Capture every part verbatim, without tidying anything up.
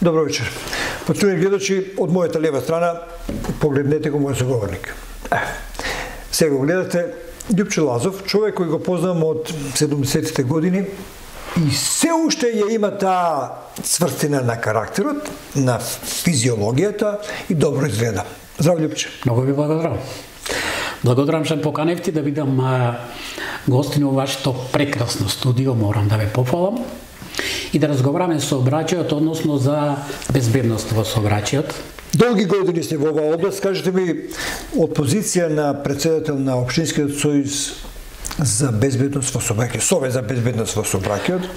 Добро вечер. Почитувани гледачи, од мојата лева страна, погледнете го мојот соговорник. Е, сега го гледате Љупче Лазов, човек кој го познавам од седумдесетите години и се уште ја има таа цврстина на карактерот, на физиологијата и добро изгледа. Здраво, Љупче. Многу ви благодарам. Благодарам што ме поканевте да видам гостини во вашето прекрасно студио, морам да ве пофалам. И да разговараме со сообраќајот, односно за безбедност во сообраќајот. Долги години сте во оваа област, кажете ми, од позиција на председател на Општинскиот сојуз за безбедност во сообраќајот, Совет за безбедност во сообраќајот.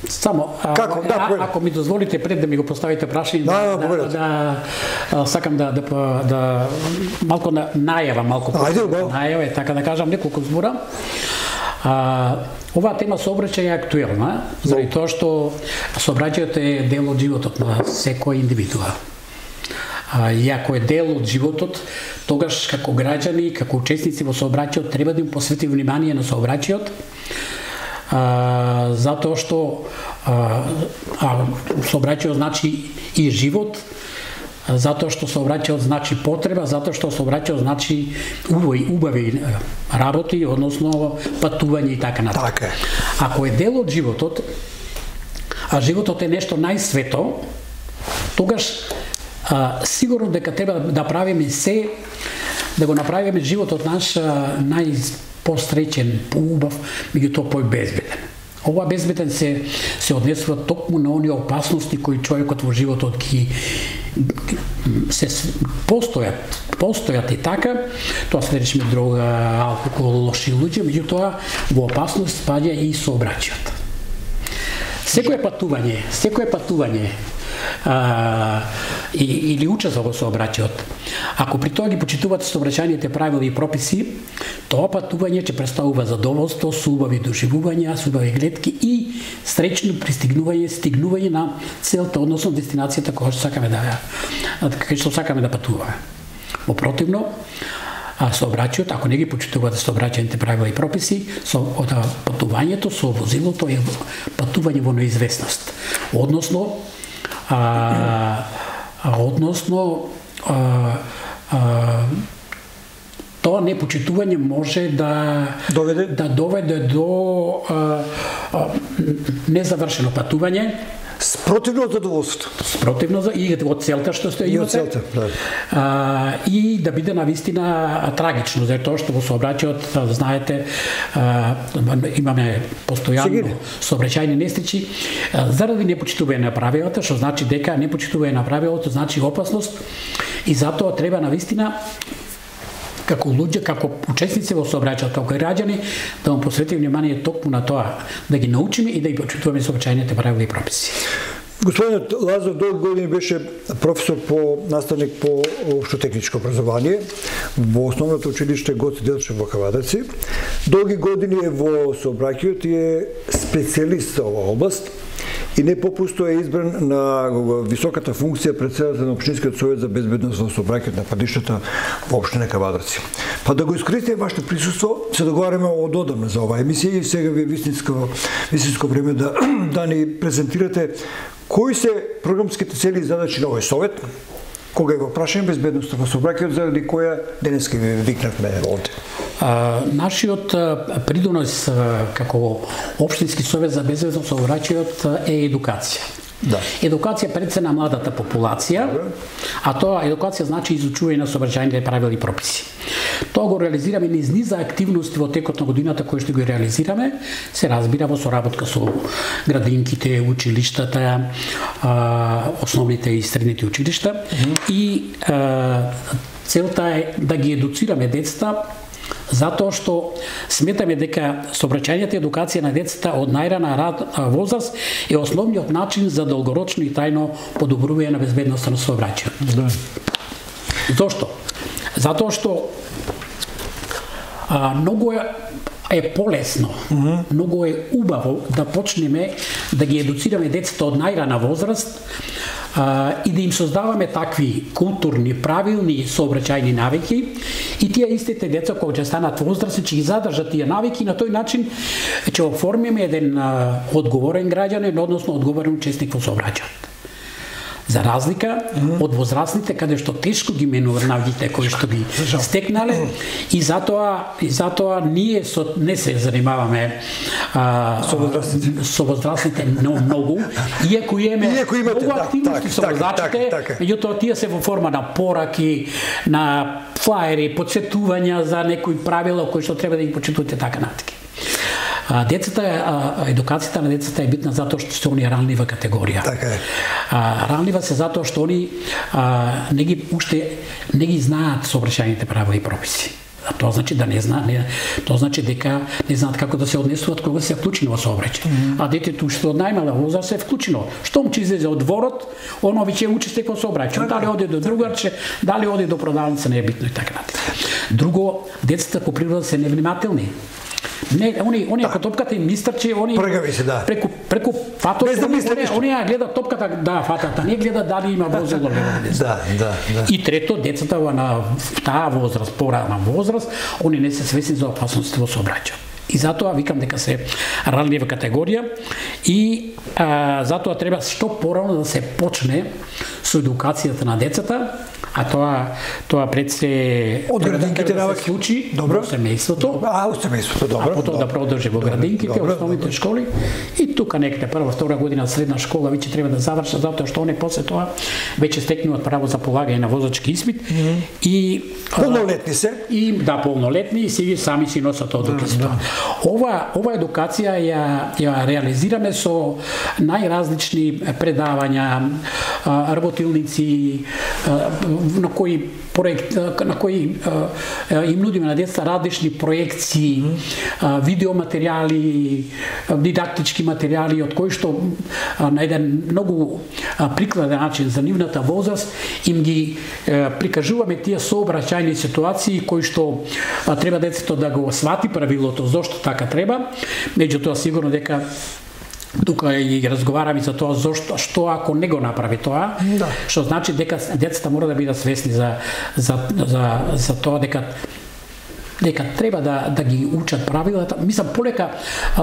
Само, Како? А, Да, а, ако ми дозволите пред да ми го поставите прашање, да, да, да, да, да сакам да, да, да малку на најава, малку најава, е така да кажам неколку збора. А, оваа тема сообраќај е актуелна, заради тоа што сообраќајот е дел од животот на секој индивидуа. А, и ако е дел од животот, тогаш како граѓани, како учесници во сообраќајот треба да им посвети внимание на сообраќајот, а, затоа што а, а, сообраќајот значи и живот, затоа што сообраќајот значи потреба, затоа што сообраќајот значи убави, убави работи, односно патување и така натаму. Така. Ако е дел од животот, а животот е нешто најсвето, тогаш а, сигурно дека треба да правиме се, да го направиме животот наш најпостречен, поубав, меѓутоа појбезбеден. Ова безбеден се се однесува токму на оние опасности кои човекот во животот ги се постојат, постојат и така, тоа се речеме дрога, алкохол, лоши луѓе, меѓутоа во опасност спаѓа и сообраќајот. Секое патување, секое патување а, и, или учество во сообраќајот, ако при тоа ги почитувате сообраќајните правила и прописи, тоа патување ќе представува задоволство, со убави доживувања, со убави гледки и среќно пристигнување, стигнување на целта, односно дестинацијата која што сакаме да кај што сакаме да патуваме. Во противно, а сообраќајот, ако не ги почитувате сообраќајните правила и прописи, со патувањето со возилото е патување во неизвестност. Односно, а, а односно а, а, тоа непочитување може да доведе, да доведе до а, а, незавршено патување, спротивно од задоволството. Спротивно за и од целта што сте имате. И од целта, да. А, и да биде навистина трагично, за тоа што во сообраќајот, знаете, а, имаме постојано сообраќајни несреќи заради непочитување на правилата, што значи дека непочитување на правилото значи опасност и затоа треба навистина како луѓе, како учесници во сообраќајот, како граѓани, да му посветиме внимание токму на тоа, да ги научиме и да ги почитуваме сообраќајните правила и прописи. Господинот Лазов долги години беше професор по наставник по општотехничко образование во основното училиште Гоце Делчев во Кавадарци. Долги години е во сообраќајот и е специјалист за оваа област и не попусто е избран на високата функција председател на Општинскиот совет за безбедност во сообраќајот на патиштата во општина Кавадарци. Па да го искористиме вашето присуство, се договараме од одамна за оваа емисија и сега ви е вистинско, вистинско време да, да ни презентирате кои се програмските цели и задачи на овој совет, кога е во прашање безбедноста во сообраќајот, заради која денеска ви викнавме овде. А, нашиот придонос како Општински совет за безбедност во сообраќајот е едукација. Да. Едукација пред се на младата популација, а тоа едукација значи изучување на сообраќајните правила и прописи. Тоа го реализираме низ низа активности во текот на годината кои што ги реализираме, се разбира во соработка со градинките, училиштата, основните и средните училишта mm -hmm. и а, целта е да ги едуцираме децата, затоа што сметаме дека сообраќајната едукација на децата од најрана возраст е основниот начин за долгорочно и трајно подобрување на безбедноста на сообраќајот. Да. Зошто? Затоа што а, многу е, е полесно, mm -hmm. многу е убаво да почнеме да ги едуцираме децата од најрана возраст, а, и да им создаваме такви културни, правилни сообраќајни навики и тие истите деца кога ќе станат возрастни ќе ги задржат тие навики и на тој начин ќе оформиме еден а, одговорен граѓанин, односно одговорен учесник во сообраќајот. За разлика mm-hmm. од возрастните каде што тешко ги менуваат навиците кои што ги стекнале mm-hmm. и затоа и затоа ние со, не се занимаваме а, со возрастните со возрастните многу, иако имаме многу активности со возрастните, меѓутоа тие се во форма на пораки, на флаери, подсетувања за некои правила кои што треба да ги почитувате така натаму. А, децата, а, едукацијата на децата е битна затоа што се они ранлива категорија. Така е. А, ранлива се затоа што они а, не ги уште не ги знаат сообраќајните правила и прописи. А тоа значи да не знаат, не, тоа значи дека не знаат како да се однесуваат кога се вклучени во сообраќај. Mm-hmm. А детето што од најмала возраст се вклучено. Штом ќе излезе од дворот, оно веќе учесник во сообраќај. Дали оди до другарче, дали оди до продавница, не е битно и така натаму. Друго, децата по природа се невнимателни. Не, они они ако топката им истрчи, они се, да. преку преку фатот, да они, они ја гледат топката, да, фатата, не гледат дали има возило или да, да, да. И трето, децата на таа возраст, порана возраст, они не се свесни за опасностите во сообраќајот. И затоа викам дека се ранлива категорија и а, затоа треба што порано да се почне со едукацијата на децата, а тоа тоа пред се од градинките да се случи во семејството. А, во семејството, добро. А потоа да продолжи во градинките, основните школи и тука некаде прва, втора година средна школа веќе треба да завршат затоа што они после тоа веќе стекнуваат право за полагање на возачки испит mm-hmm. и полнолетни се. И да, полнолетни и си сами си носат одлуки за тоа. Ова ова едукација ја ја реализираме со најразлични предавања, работилници, на кои проект на кои им нудиме на деца различни проекции, видеоматеријали, дидактички материјали од кои што на еден многу прикладен начин за нивната возраст им ги прикажуваме тие сообраќајни ситуации кои што треба децето да го свати правилото зошто така треба, меѓутоа сигурно дека тука и разговараме за тоа зошто што ако не го направи тоа, да. Што значи дека децата мора да бидат свесни за за за за тоа дека дека треба да да ги учат правилата. Мислам полека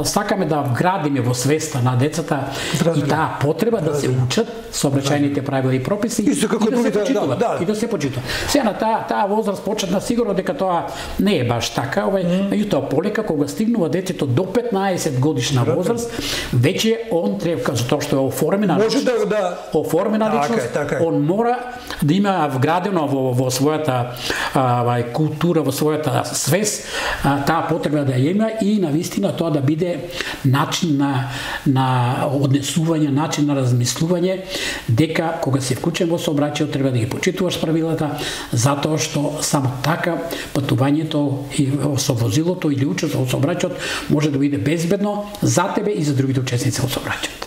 сакаме да вградиме во свеста на децата Здраве. И таа потреба Здраве. Да се учат сообраќајните правила и прописи и, Исто како и да се почитуваат. Да, да. И да се почитуваат. Сега на таа таа возраст почетна сигурно дека тоа не е баш така, овај, mm. меѓутоа полека кога стигнува детето до петнаесет годишна возраст, веќе он треба затоа што е оформена може да, да оформена така личност, е, така е. Он мора да има вградено во во својата а, култура, во својата свест, таа потреба да ја има и навистина тоа да биде начин на на однесување, начин на размислување дека кога се вклучен во сообраќајот треба да ги почитуваш правилата, затоа што само така патувањето и со возилото или учество во сообраќајот може да биде безбедно за тебе и за другите учесници во сообраќајот.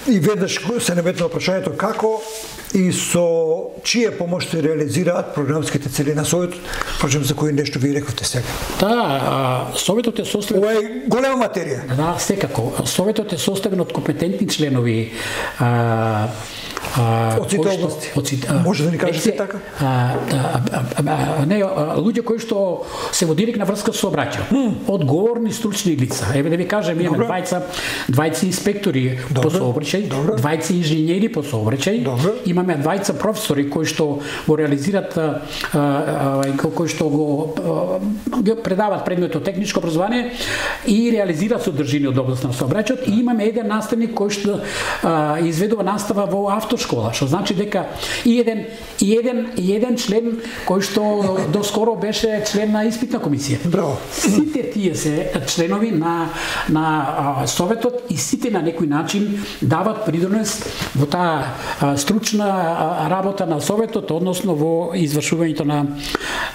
И веднаш се наметнува прашањето како и со чија помош се реализираат програмските цели на Советот, впрочем за кои нешто ви рековте сега. Да, Советот е составен. Ова е голема материја. Да, секако. Советот е составен од компетентни членови. А, А, од сите области. Може да ни кажете така? А, а, а, не, а, луѓе кои што се во директна врска со сообраќајот. Mm. Одговорни стручни лица. Еве да ви кажем, имаме двајца, двајца инспектори Добре. По сообраќај, Добре. Двајца инженери по сообраќај, Добре. Имаме двајца професори кои што го реализираат, а, а, кои што го а, предаваат предметот техничко образование и реализираат содржини од област на сообраќајот, и имаме еден наставник кој што а, изведува настава во автошкола, што значи дека и еден и еден и еден член кој што доскоро беше член на испитна комисија. Браво. Сите тие се членови на на а, Советот и сите на некој начин дават придонес во таа а, стручна а, работа на Советот, односно во извршувањето на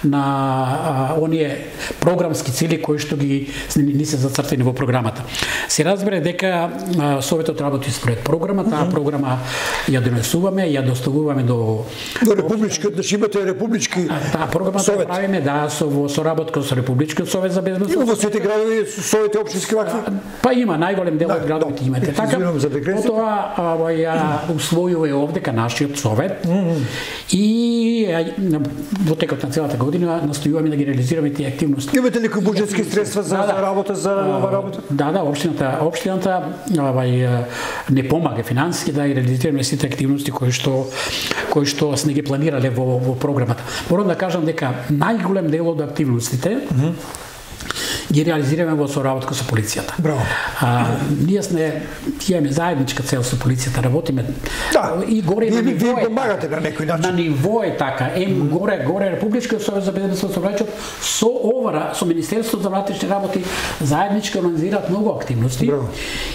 на а, оние програмски цели кои што ги ни се зацртени во програмата. Се разбере дека а, Советот работи според програма, таа програма ја донесуваме, ја доставуваме до до републички, значи имате републички таа програмата ја правиме да со во соработка со Републичкиот совет за безбедност. Има во сите градови совети општински вакви? Па има, најголем дел од градовите имате така. Потоа ја усвојува овдека нашиот совет и во текот на целата година настојуваме да ги реализираме тие активности. Имате ли буџетски средства за работа за ова работа? Да, да, општината, општината овај не помага финансиски да реализираме сите активности кои што кои што сме ги планирале во во програмата. Морам да кажам дека најголем дел од активностите mm -hmm. ги реализираме во соработка со полицијата. Браво. А, ние сме имаме заедничка цел со полицијата, работиме. Да. И горе и на ниво. Вие помагате на некој начин. На ниво е така. Ем горе горе Републичкиот совет за безбедност на сообраќајот со ОВР, со Министерството за внатрешни работи заеднички организираат многу активности. Браво.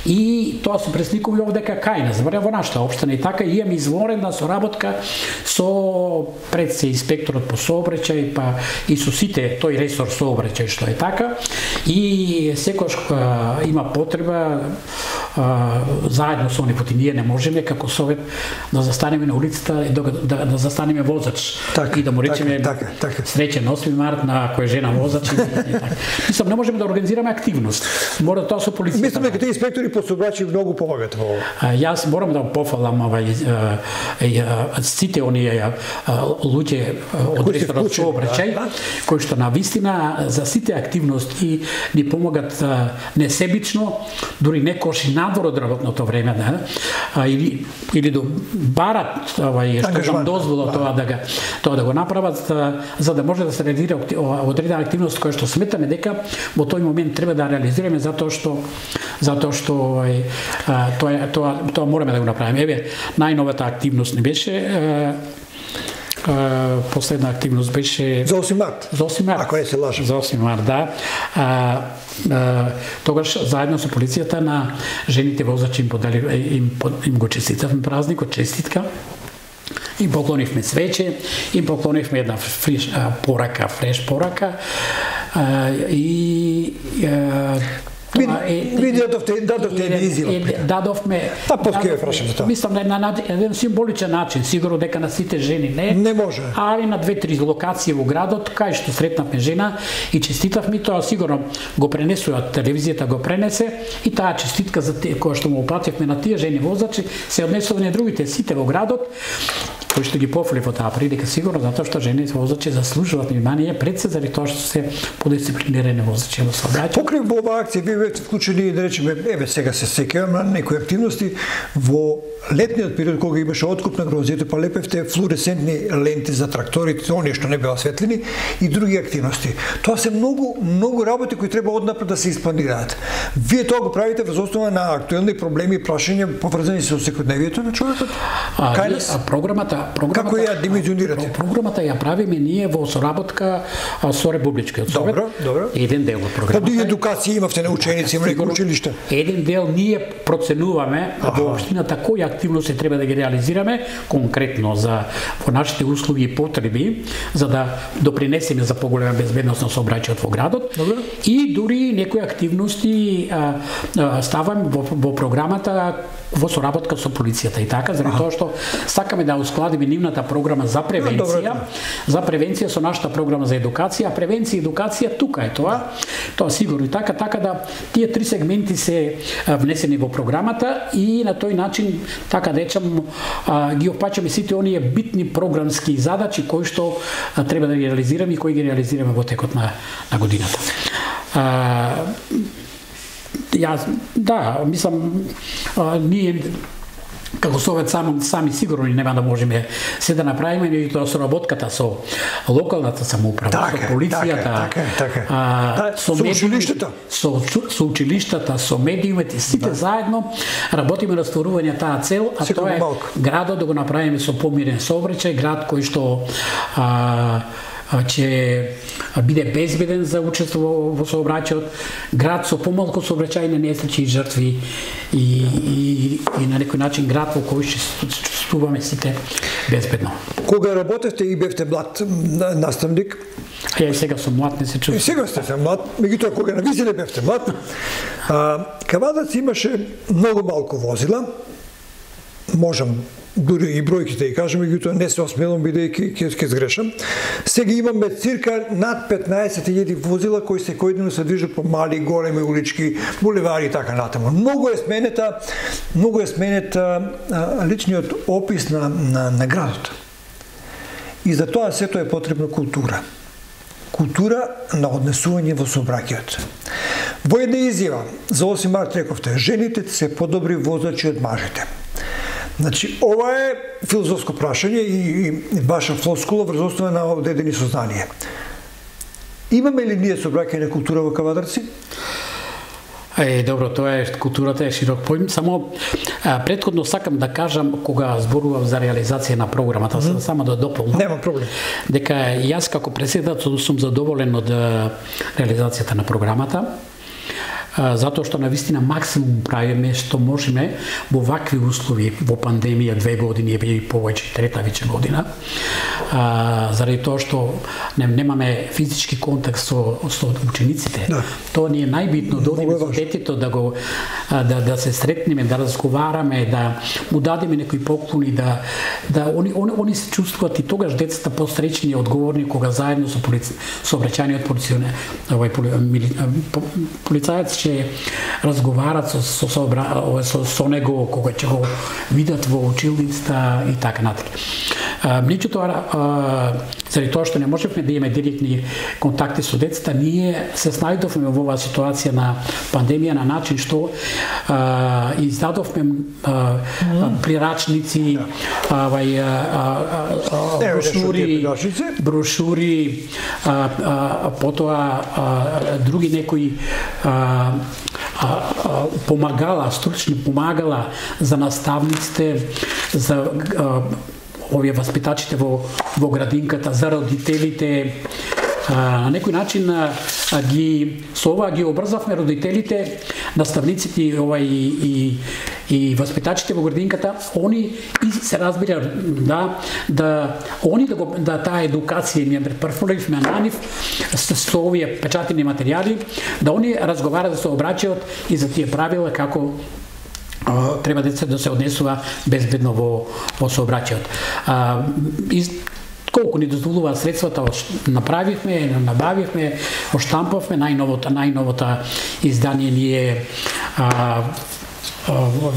И тоа се пресликува овдека кај нас, во нашата општина и така и имаме изворена соработка со пред се инспекторот по сообраќај, па и со сите тој ресор сообраќај што е така. И секогаш има потреба а, заедно со они, поти ние не можеме како совет да застанеме на улицата и да, да, да застанеме возач так, и да му речеме така, така, среќен осми март на која жена возач и така. Мислам, не можеме да организираме активност. Мора тоа со полицијата. Мислам дека тие инспектори по сообраќај многу помагат во ова. Јас морам да пофалам овај сите оние луѓе од ресорот сообраќај кои што на вистина за сите активности ни помагат несебично, дури некош и надвор од работното време, да, а, или или до барат овај што им дозвола тоа да го тоа да го направат, а, за да може да се реализира одредена активност која што сметаме дека во тој момент треба да реализираме затоа што затоа што овај тоа тоа тоа мораме да го направиме. Еве најновата активност не беше а, Uh, последна активност беше за осми март. За осми март. Ако не се лажам. За осми март, да. А, а, тогаш заедно со полицијата на жените возачи им подали им, им го честитавме празникот, честитка. Им поклонивме свече, им поклонивме една фриш а, порака, фреш порака. А, и а, Ви дадовте, дадовте една изјава. Дадовме. Па поски ја прашам за тоа. Мислам на на еден символичен начин, сигурно дека на сите жени не. Не може. Али на две-три локации во градот кај што сретнавме жена и честитавме, тоа сигурно го пренесува, телевизијата го пренесе и таа честитка за тие која што му упативме на тие жени возачи се однесува на другите сите во градот кои што ги пофали во таа прилика сигурно затоа што жени возачи заслужуваат внимание пред се заради тоа што се подисциплинирани возачи во сообраќај. Покрај во оваа акција вие бевте вклучени, да речеме, еве сега се сеќавам на некои активности во летниот период кога имаше откуп на грозјето, па лепевте флуоресцентни ленти за тракторите, оние што не беа осветлени и други активности. Тоа се многу многу работи кои треба однапред да се испланираат. Вие тоа го правите врз основа на актуелни проблеми и прашања поврзани со секојдневието на човекот? Кај нас програмата програмата како ја димenzionирате? Програмата ја правиме ние во соработка со Републичкиот совет. Добро, добро. Еден дел од програмата. Па едукација имавте на ученици, има некои училишта. Еден дел ние проценуваме во општината кои активности треба да ги реализираме конкретно за во нашите услуги и потреби за да допринесеме за поголема безбедност на сообраќајот во градот. Добро. И дури некои активности а, а, ставаме во, во програмата во соработка со полицијата и така, заради тоа што сакаме да ускладиме нивната програма за превенција, за превенција со нашата програма за едукација, а превенција и едукација тука е тоа. Тоа сигурно и така, така да тие три сегменти се внесени во програмата и на тој начин, така да речам, ги опаќаме сите оние битни програмски задачи кои што треба да ги реализираме и кои ги реализираме во текот на, на годината. А, Јас, да, мислам, а, ние како совет сами, сами сигурно нема да можеме се да направиме, и тоа соработката со локалната самоуправа, така, со полицијата, така, така. А, да, со, со училиштата, со, со училиштата, со медиумите, сите да. заедно работиме на стварување таа цел, а Секако тоа е малко. градот да го направиме со помирен сообраќај, град кој што а, ќе биде безбеден за учество во сообраќајот, град со помалку сообраќајни несреќи и жртви и, и, и на некој начин град во кој ќе чувствуваме сите безбедно. Кога работевте и бевте млад наставник, Ја и сега сум млад, не се чувствувам. И сега сте се млад, меѓутоа кога навистина бевте млад, а, Кавадац имаше многу малку возила, можам дури и бројките и кажем, меѓутоа не се осмелам бидејќи ќе ќе сгрешам. Сега имаме цирка над петнаесет илјади возила кои секој ден се движат по мали, големи улички, булевари и така натаму. Многу е сменета, многу е сменета а, личниот опис на, на, на градот. И за тоа сето е потребна култура. Култура на однесување во сообраќајот. Во една изјава за осми март рековте, жените се подобри возачи од мажите. Значи, ова е филозофско прашање и, и ваша флоскула врз основа на одредени сознание. Имаме ли ние сообраќајна култура во Кавадарци? Е, добро, тоа е, културата е широк поим. Само а, претходно сакам да кажам, кога зборував за реализација на програмата, mm -hmm. само да дополнам. Нема проблем. Дека јас како претседател сум задоволен од реализацијата на програмата, затоа што навистина максимум правиме што можеме во вакви услови, во пандемија две години и повеќе, трета веќе година, а, заради тоа што не, немаме физички контакт со, со учениците. Да. Тоа ни е најбитно, да одиме со детето, да го да, да се сретнеме, да разговараме, да му дадеме некои поклони, да да они они, они се чувствуваат и тогаш децата посречни и одговорни кога заедно со полици, со обраќаниот полиционер, овој полицаец ќе разговарат со со со, со, со него кога ќе го видат во училницата и така натаму. Меѓутоа, заради тоа што не можевме да имаме директни контакти со децата, ние се снајдовме во оваа ситуација на пандемија на начин што а, издадовме а, прирачници, авај брошури, брошури, а, а, потоа а, други некои а, а, а, помагала, стручни помагала за наставниците, за а, овие васпитачите во во градинката, за родителите. А, на некој начин а, ги со ова ги обрзавме родителите, наставниците ова и и и васпитачите во градинката, они и се разбира да да они да го да таа едукација ми префрлевме на нив со, со овие печатени материјали, да они разговараат, да се обраќаат и за тие правила како треба деца да се однесува безбедно во во сообраќајот. А, из колку ни дозволуваат средствата, направивме, набавивме, оштампавме најновото најновото издание ние а,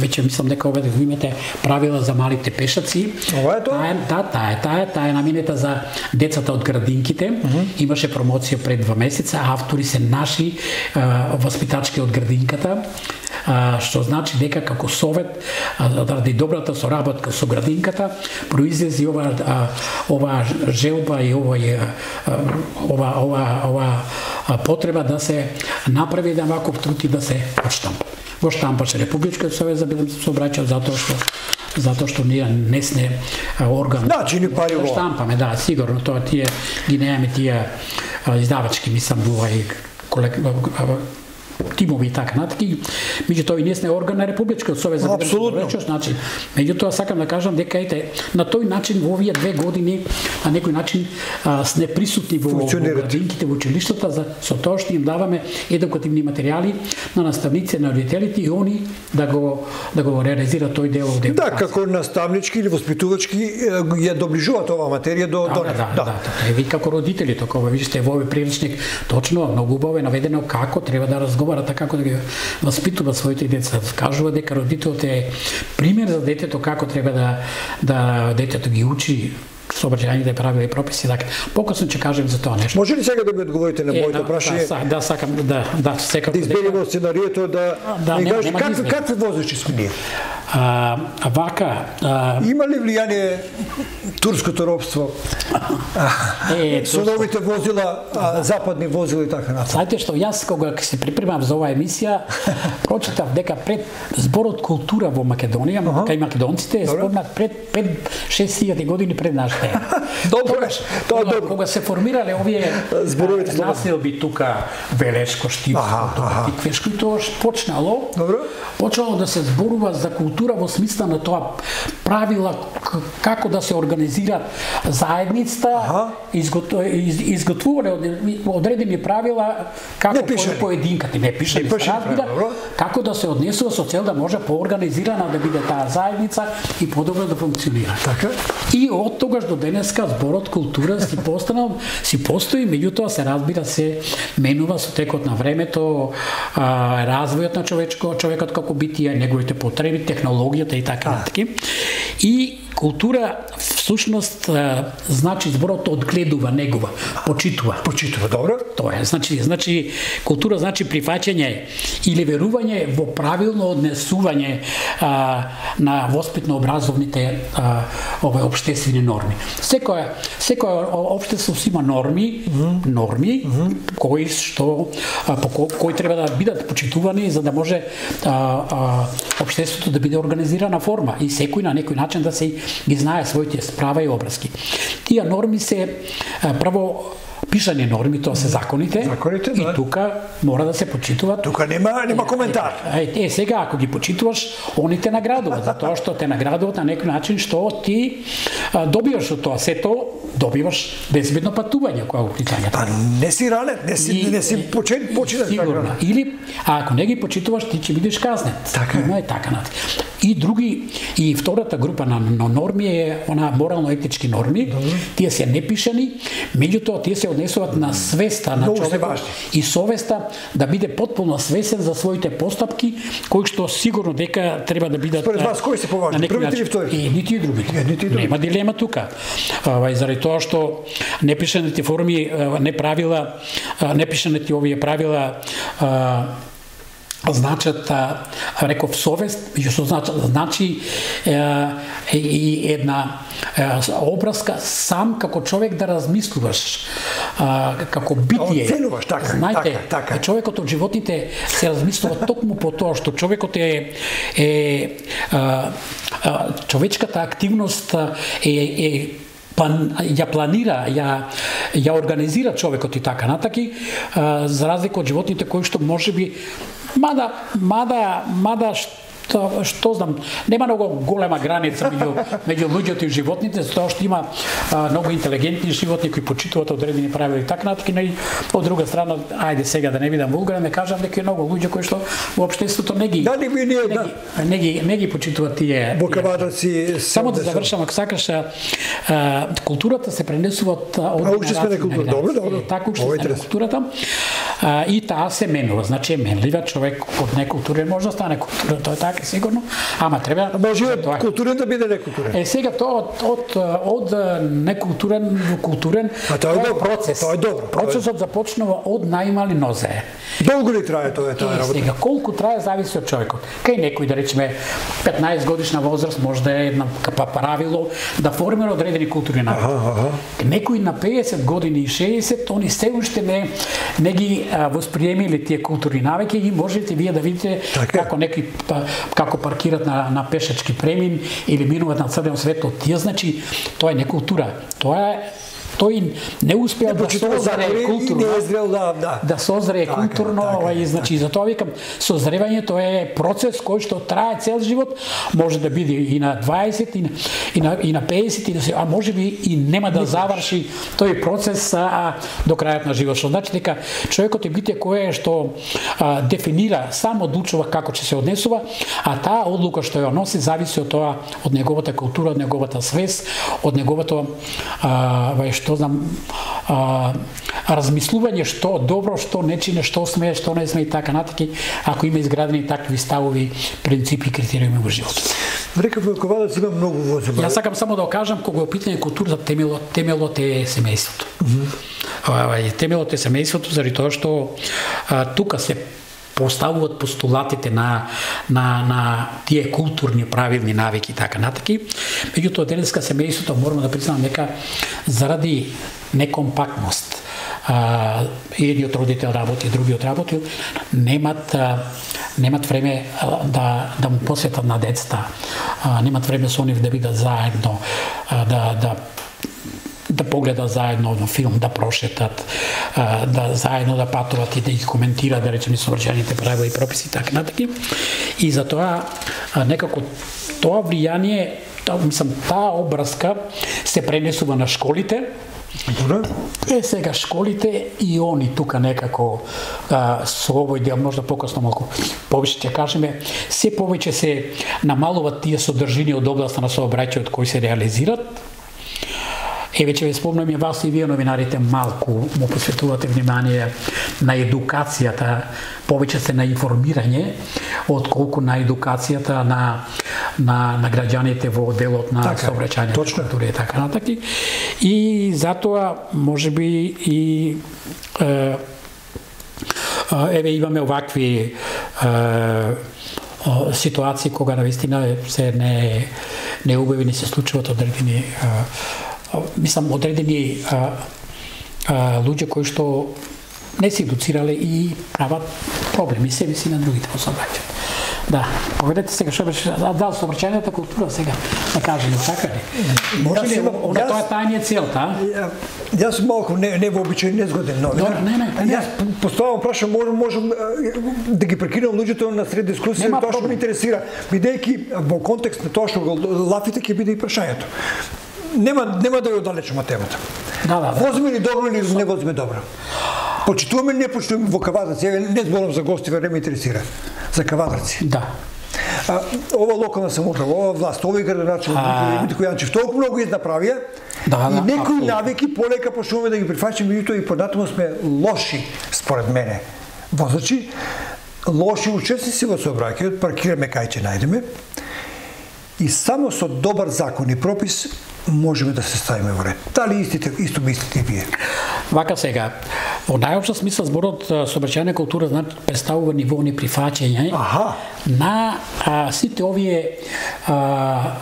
веќе мислам дека овде го имате правила за малите пешаци. Ова е тоа? Таа, да, таа е, таа е, таа е наменета за децата од градинките. Uh -huh. Имаше промоција пред два месеца, автори се наши а, васпитачки од градинката. А, што значи дека како совет, заради добрата соработка со градинката, произлези ова а, ова желба и ова ова ова ова потреба да се направи еден ваков труд и да се отштампа. Во штампаше Републичкиот совет за безбедност сообраќај, затоа што затоа што ние не сме орган. Да, чини пари во штампаме, да, сигурно тоа тие ги немаме тие издавачки, мислам, овај колек тимови и така натаки. Меѓутоа и ние сме орган на Републичкиот совет за безбедност сообраќај, значи, меѓутоа сакам да кажам дека ете на тој начин во овие две години на некој начин а, сме присутни во, во градинките, во училиштата за со тоа што им даваме едукативни материјали на наставници, на родителите и они да го да го реализираат тој дел од да, како наставнички или воспитувачки ја доближуваат оваа материја до да, до да, да, да, да, да. Ви како родители, така вижте во овој приличник точно многу убаво е наведено како треба да разговараме, како да ги воспитува своите деца. Кажува дека родителот е пример за детето како треба да да детето ги учи сообраќајните правила и прописи, така. Покасно ќе кажем за тоа нешто. Може ли сега да ми одговорите на моето прашање? Да, да, сакам да, да, секако да избегнеме сценарието да да не кажеш какви какви возачи сме ние. А, вака, а... има ли влијание турското робство? Е, со новите возила, а, западни возила и така натаму. Знаете што, јас кога се припремав за оваа емисија, прочитав дека пред зборот култура во Македонија, uh -huh. кај македонците е спомнат пред пет шест илјади години пред нашите. Добро е. Тоа добро. Кога се формирале овие зборовите населби тука Велешко, Штипско, тука Тиквешко, и тоа почнало. Добро. Почнало да се зборува за култура култура во смисла на тоа правила како да се организира заедницата, изготв... изготвување одредени правила како поединката, не пишани, се разбира, како да се однесува со цел да може поорганизирана да биде таа заедница и подобро да функционира. Така. И од тогаш до денеска зборот култура си постанал, си постои, меѓутоа се разбира се менува со текот на времето, а, развојот на човечко, човекот како битие, неговите потреби, технологијата и така натаму. И култура всушност значи зборот одгледува, негува, почитува. Почитува, добро. Тоа е, значи, значи култура значи прифаќање или верување во правилно однесување а, на воспитно-образовните а, овој општествени норми. Секоја секоја општество има норми, mm -hmm. норми mm -hmm. кои што а, по кои, кои треба да бидат почитувани за да може а, а, општеството да биде организирана форма и секој на некој начин да се ги знае своите права и обврски. Тие норми се прво пишани норми, тоа се законите, законите и да. Тука мора да се почитуваат. Тука нема нема коментар. Е, е, сега ако ги почитуваш, они те наградуваат, затоа што те наградуваат на некој начин што ти а, добиваш од тоа, сето добиваш безбедно патување кога го питањето. Па не си ранет, не си и, не си почет почиташ сигурно. Или а ако не ги почитуваш, ти ќе бидеш казнет. Така Има е така нати. И други и втората група на, на норми е она морално-етички норми. Добре. Тие се непишани, меѓутоа тие се однесуваат на свеста на човекот и совеста да биде потполно свесен за своите постапки, кои што сигурно дека треба да бидат. Според вас кои се поважни? Првите или вторите? И нити и другите. Е, нити и другите. Нема дилема тука. Ова заради тоа што непишаните форми, не правила, непишаните овие правила значат, реков, совест, што значи, значи е, и една е, образка сам како човек да размислуваш, а, како битие. Оценуваш, така, знаете, така, така. Човекот од животните се размислува токму по тоа што човекот е, е а, а, човечката активност е, е План, ја планира, ја, ја организира човекот и така натаки, а, за разлика од животните кои што можеби мада мада мада што, што знам, нема многу голема граница меѓу меѓу луѓето и животните, затоа што има а, многу интелигентни животни кои почитуваат одредени правила и така натаки, но и од друга страна, ајде сега да не бидам вулгарен, не кажам дека е многу луѓе кои што во општеството не ги да, не, не, не, да. не ги не ги почитуваат тие. Бокавадаци. Само да завршам, ако сакаш, а, културата се пренесува од учествена култура. Добро, добро. Така учествена културата. А, и таа се менува, значи е менлива, човек од некултурен може да стане култура, тоа е така сигурно, ама треба може тоа културен да биде некултурен. Е сега тоа од од од некултурен во културен, а тоа е процес. Тоа е добро. Процесот започнува од најмали нозе. Долго ли трае тоа таа работа? Сега колку трае зависи од човекот. Кај некој да речеме петнаесет годишна возраст може да е една правило да формира одредени културни навики. Некој на пеесет години и шеесет они се уште не не ги а, восприемиле тие културни навики и можете вие да видите така како некои како паркират на на пешачки премин или минуваат на црвено светло. Тие значи тоа е не култура. Тоа е тој не успеа да созрее културно, да, да. да созрее така, културно, така, и значи затоа викам созревањето е процес кој што трае цел живот, може да биде и на дваесет и на и на, и на пеесет и на, а можеби и нема да заврши тој процес а, до крајот на животот. Што значи дека човекот е битие кое што а, дефинира, сам одлучува како ќе се однесува, а таа одлука што ја носи зависи од тоа, од неговата култура, од неговата свест, од неговото а, што знам, а, размислување што добро, што не чине, што смее, што не смее и така натаки, ако има изградени такви ставови, принципи и критериуми во животот. Рекав Велковадац има многу возила. Јас сакам само да кажам кога е питање културата, темелот, темелот е семејството. Mm -hmm. Темелот е семејството заради тоа што а, тука се поставуваат постулатите на на на тие културни правилни навики и така натаки. Меѓутоа денеска семејството морам да признам дека заради некомпактност, а, едниот родител работи, другиот работи, немат а, немат време а, да да му посветат на децата. А, немат време со нив да бидат заедно, а, да да да погледат заедно на филм, да прошетат, да заедно да патуват и да ги коментираат, да речеме, совршените правила и прописи, така натаки. И затоа а, некако тоа влијание, та, мислам, таа обраска се пренесува на школите. Е, сега школите и они тука некако а, со овој дел, можда покасно малку повеќе ќе кажеме, се повеќе се намалуваат тие содржини од областа на сообраќајот кои се реализират. Е, веќе ве спомнам и вас и вие новинарите малку му посветувате внимание на едукацијата, повеќе се на информирање, отколку на едукацијата на на на граѓаните во делот на сообраќајната култура и така натаки. И затоа можеби и е, еве имаме овакви е, ситуации кога навистина се не неубави се случуваат одредени мислам одредени а, а, луѓе кои што не се едуцирале и прават проблеми себе си на другите во сообраќајот. Да, поведете сега што беше дал сообраќајната култура сега, да кажеме така ли? Може ли она тоа е тајниот целта? Јас сум малку не не вообичаен, незгоден новинар. Не, не, не. Јас поставам прашам, можам можам да ги прекинам луѓето на сред дискусија, тоа што ме интересира, бидејќи во контекст на тоа што го лафите ќе биде и прашањето. Нема нема да ја оддалечам од темата. Да, да, да. Возиме ли добро или не возиме добро? Почитуваме или не почитуваме во Кавадарци? Не зборам за гости, не ме интересира. За Кавадарци. Да. А, ова локална самоуправа, ова власт, овој градоначелник Митко Јанчев толку многу изнаправија, да, и да, некои да, навики полека почнуваме да ги прифаќаме, меѓутоа и понатаму сме лоши според мене возачи, лоши учесници во сообраќајот, паркираме кај ќе најдеме. И само со добар закон и пропис можеме да се ставиме во ред. Дали истите, исто мислите и вие? Вака сега, во најопшта смисла зборот сообраќајна култура значи представува ниво неприфаќање на а, сите овие а,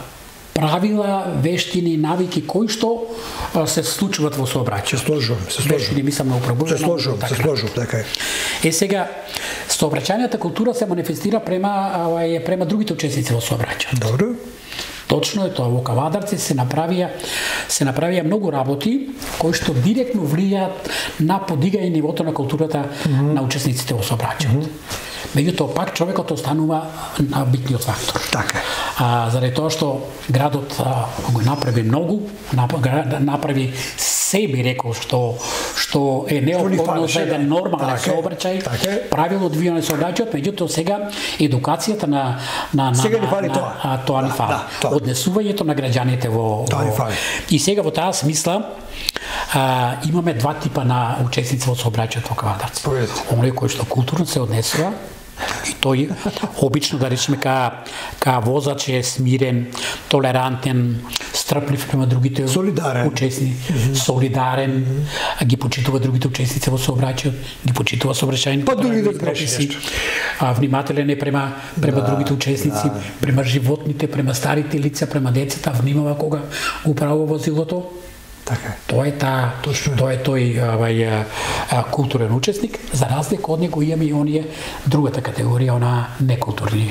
правила, вештини, навики кои што а, се случуваат во сообраќајот. Се сложувам, се сложувам. Вештини мислам на управување. Се сложувам, се сложувам, така е. Е сега сообраќајната култура се манифестира према а, према другите учесници во сообраќајот. Добро. Точно е тоа, во Кавадарци се направија се направија многу работи кои што директно влијаат на подигање нивото на културата mm -hmm. на учесниците во сообраќајот. Mm -hmm. Меѓутоа пак човекот останува на битниот фактор. Така. А заради тоа што градот а, го направи многу, направи се би рекол што што е неопходно за еден нормален сообраќај, правилно одвијано сообраќајот, меѓутоа сега едукацијата на на на сега ни фали на, тоа. А, тоа ни фали. Да, однесувањето на граѓаните во, во... И сега во таа смисла а, имаме два типа на учесници во сообраќајот во Кавадарци. Оној кој што културно се однесува и тој обично да речеме ка ка возач е смирен, толерантен, стрплив према другите солидарен. Учесници, mm -hmm. солидарен, mm -hmm. ги почитува другите учесници во сообраќајот, ги почитува сообраќајните па дури да греши, а внимателен е према према да, другите учесници, да. Према животните, према старите лица, према децата, внимава кога го управува возилото. Така. Тоа е таа, тоа е тој авај културен учесник, за разлика од него имаме и оние другата категорија, она некултурни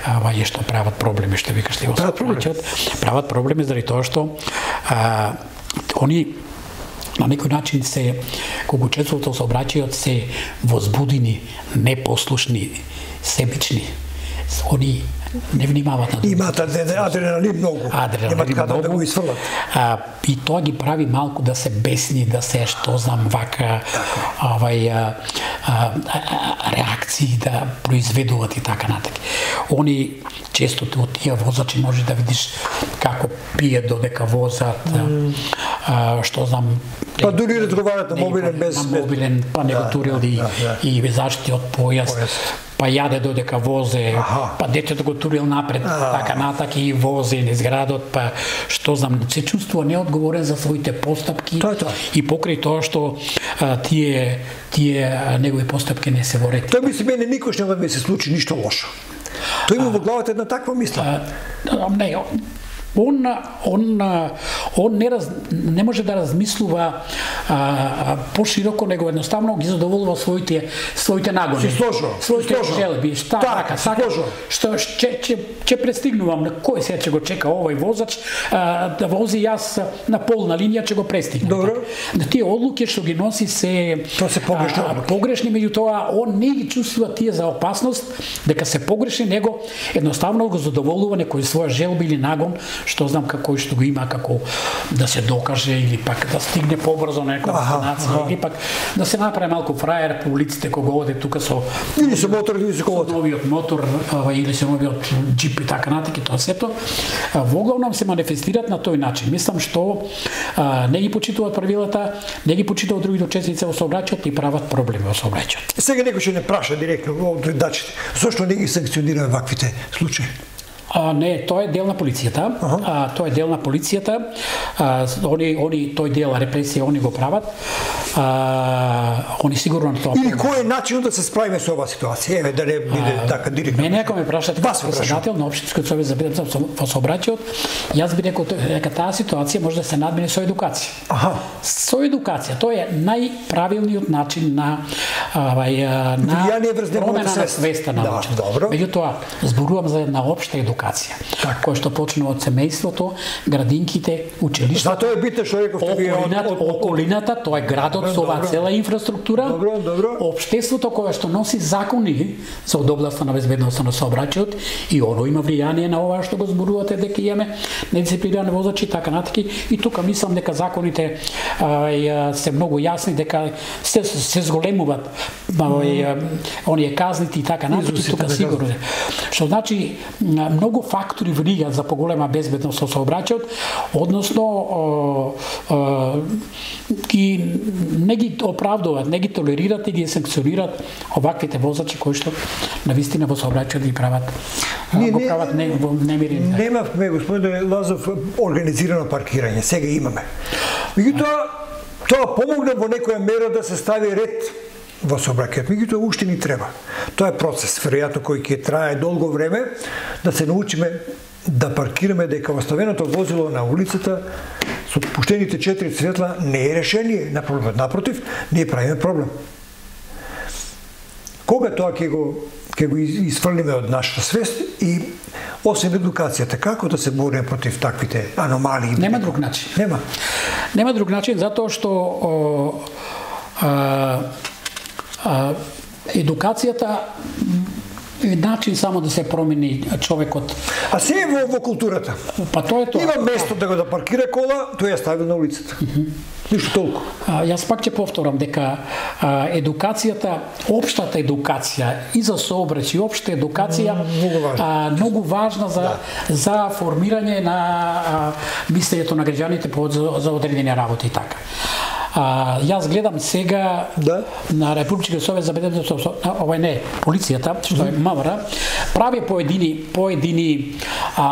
авај што прават проблеми, што викаш ти во сообраќајот, прават проблеми заради тоа што а, они на некој начин се кога учествуваат во сообраќајот се возбудени, непослушни, себични. Они не внимаваат на другите. Имаат адреналин многу. Адреналин Имаат каде да го исфрлат. А, и тоа ги прави малку да се бесни, да се што знам вака овај а, а, а, реакции да произведуваат и така натака. Они често од тие возачи може да видиш како пијат додека возат, mm. а, што знам. Па дури разговарат на мобилен без на мобилен, па не го турили да, да, да. и заштити од појас. појас. Па јаде додека возе, Аха. па детето го турил напред, а. така натака и возе низ градот, па што знам, се чувствува неодговорен за своите постапки тоа, тоа. И покрај тоа што а, тие тие негови постапки не се во ред. Тоа мисли мене никош нема да ми се случи ништо лошо. Тој има во главата една таква мисла. А, не, Он он он не раз, не може да размислува а, пошироко, него едноставно ги задоволува своите своите нагони. Си сложно. Своите желби, шта така, така, што ќе ќе ќе пристигнувам на кој сега ќе го чека овој возач а, да вози јас на полна линија ќе го пристигнам. Добро. Да тие одлуки што ги носи се тоа се погрешни а, погрешни, меѓутоа он не ги чувствува тие за опасност дека се погрешни, него едноставно го задоволува некој своја желба или нагон, што знам како што го има, како да се докаже или пак да стигне побрзо на некоја дестинација, или пак да се направи малку фраер по улиците кога оде тука со или со мотор или со колата. Новиот мотор или со новиот џип и така натаму, тоа сето во главном се манифестираат на тој начин. Мислам што а, не ги почитуваат правилата, не ги почитуваат другите учесници во сообраќајот и прават проблеми во сообраќајот. Сега некој ќе не праша директно од гледачите, зошто не ги санкционира ваквите случаи? А, не, тоа е дел на полицијата. Uh-huh. А, тоа е дел на полицијата. А, они, они, тој дел репресија, они го прават. А, они сигурно тоа. Или кој е начинот да се справиме со оваа ситуација? Еве да не биде а, така директно. Мене ако ме прашате како председател на општинскиот совет за безбедност во сообраќајот, јас би рекол дека таа ситуација може да се надмине со едукација. Аха. Со едукација, тоа е најправилниот начин на авај на промена на свеста на луѓето. Да, меѓутоа, зборувам за една општа едукација, која што почнува од семејството, градинките, училиштата. Затоа е битно што рековте вие од околината, тоа е градот со оваа цела инфраструктура. Добро, добро. Општеството кое што носи закони за од областа на безбедноста на сообраќајот и оно има влијание на ова што го зборувате дека имаме недисциплинирани возачи така натаки, и тука мислам дека законите а, се многу јасни, дека се се зголемуваат mm. оние казните и така натаки, тука сигурно. Што значи многу фактори влијаат за поголема безбедност со сообраќајот, односно ги не ги оправдуваат, не ги толерираат и ги санкционираат оваквите возачи кои што навистина во сообраќајот ги прават не, го прават не, во немири. Немавме, господине Лазов, организирано паркирање, сега имаме. Меѓутоа тоа помогна во некоја мера да се стави ред во сообраќајот, меѓутоа уште ни треба. Тоа е процес, веројатно кој ќе трае долго време, да се научиме да паркираме, дека оставеното возило на улицата со пуштените четири светла не е решение на проблемот. Напротив, ние правиме проблем. Кога тоа ќе го ќе го изфрлиме од нашата свест и освен едукацијата, како да се бориме против таквите аномалии? Нема друг начин. Нема. Нема друг начин, затоа што о, а, а, едукацијата е начин само да се промени човекот. А се е во, во културата. Па тоа е тоа. Има место да го да паркира кола, тој ја стави на улицата. Mm -hmm. Ништо толку. А, јас пак ќе повторам дека а, едукацијата, општата едукација и за сообраќај и општа едукација mm, многу важна, а, многу важна за да. за формирање на а, мислењето на граѓаните по за, за одредени работи и така. А, јас гледам сега да? на Републичкиот совет за безбедност, овај не, полицијата, што е МВР, прави поедини поедини а,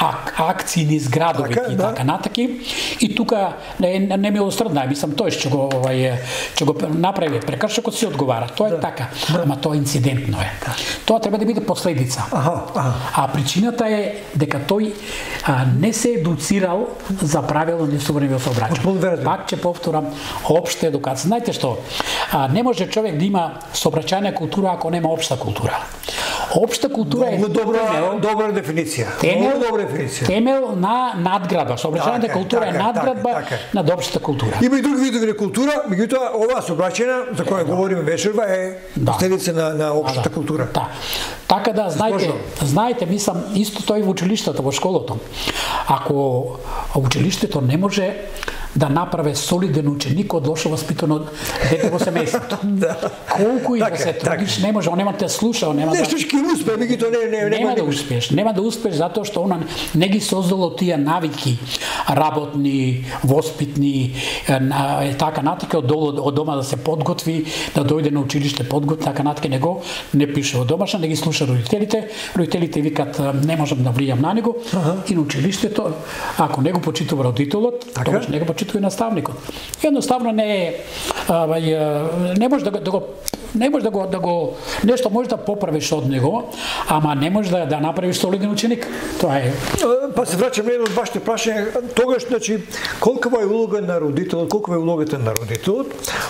ак, акции низ градови така, и така да. натаки, и тука не не милосрдна, мислам тој што го овај ќе го направи прекршокот си одговара. Тоа е да. така, да. ама тоа инцидентно е. Да. Тоа треба да биде последица. Аха, аха. А причината е дека тој а, не се едуцирал за правилно несовремено во сообраќај. Пак ќе повторам, општа едукација. Знаете што? А, не може човек да има сообраќајна култура ако нема општа култура. Општа култура Много е добра, темел, добра дефиниција. Темел, Много добра дефиниција. Темел на надградба. Сообраќајната култура така, е надградба така, така. на општата култура. Има и други видови на култура, меѓутоа оваа сообраќајна за која е, говориме вечерва е да. последица на на општата да. култура. Да. Така да знаете, знаете, мислам исто тој во училиштата, во школото. Ако училиштето не може да направи солиден ученик од лошо воспитано дете во семејството. Да. Колку и така, да се трудиш, не може, он нема да слуша, он нема да. Нешто ќе успее, меѓутоа не не нема, нема да успееш. Нема да успееш затоа што она не ги создало тие навики работни, воспитни, на, така натака од долу од дома да се подготви, да дојде на училиште подготви, така натака него не пише од домашна, не ги слуша родителите. Родителите викат не можам да влијам на него. Ага. И на училиштето, ако него почитува родителот, тогаш него почитува почитува наставникот. Едноставно не е не може да го, да го не може да го да го нешто може да поправиш од него, ама не може да да направиш солиден ученик. Тоа е. Па се враќам на едно од вашите прашања, тогаш значи колкава е улога на родителот, колкава е улогата на родителот,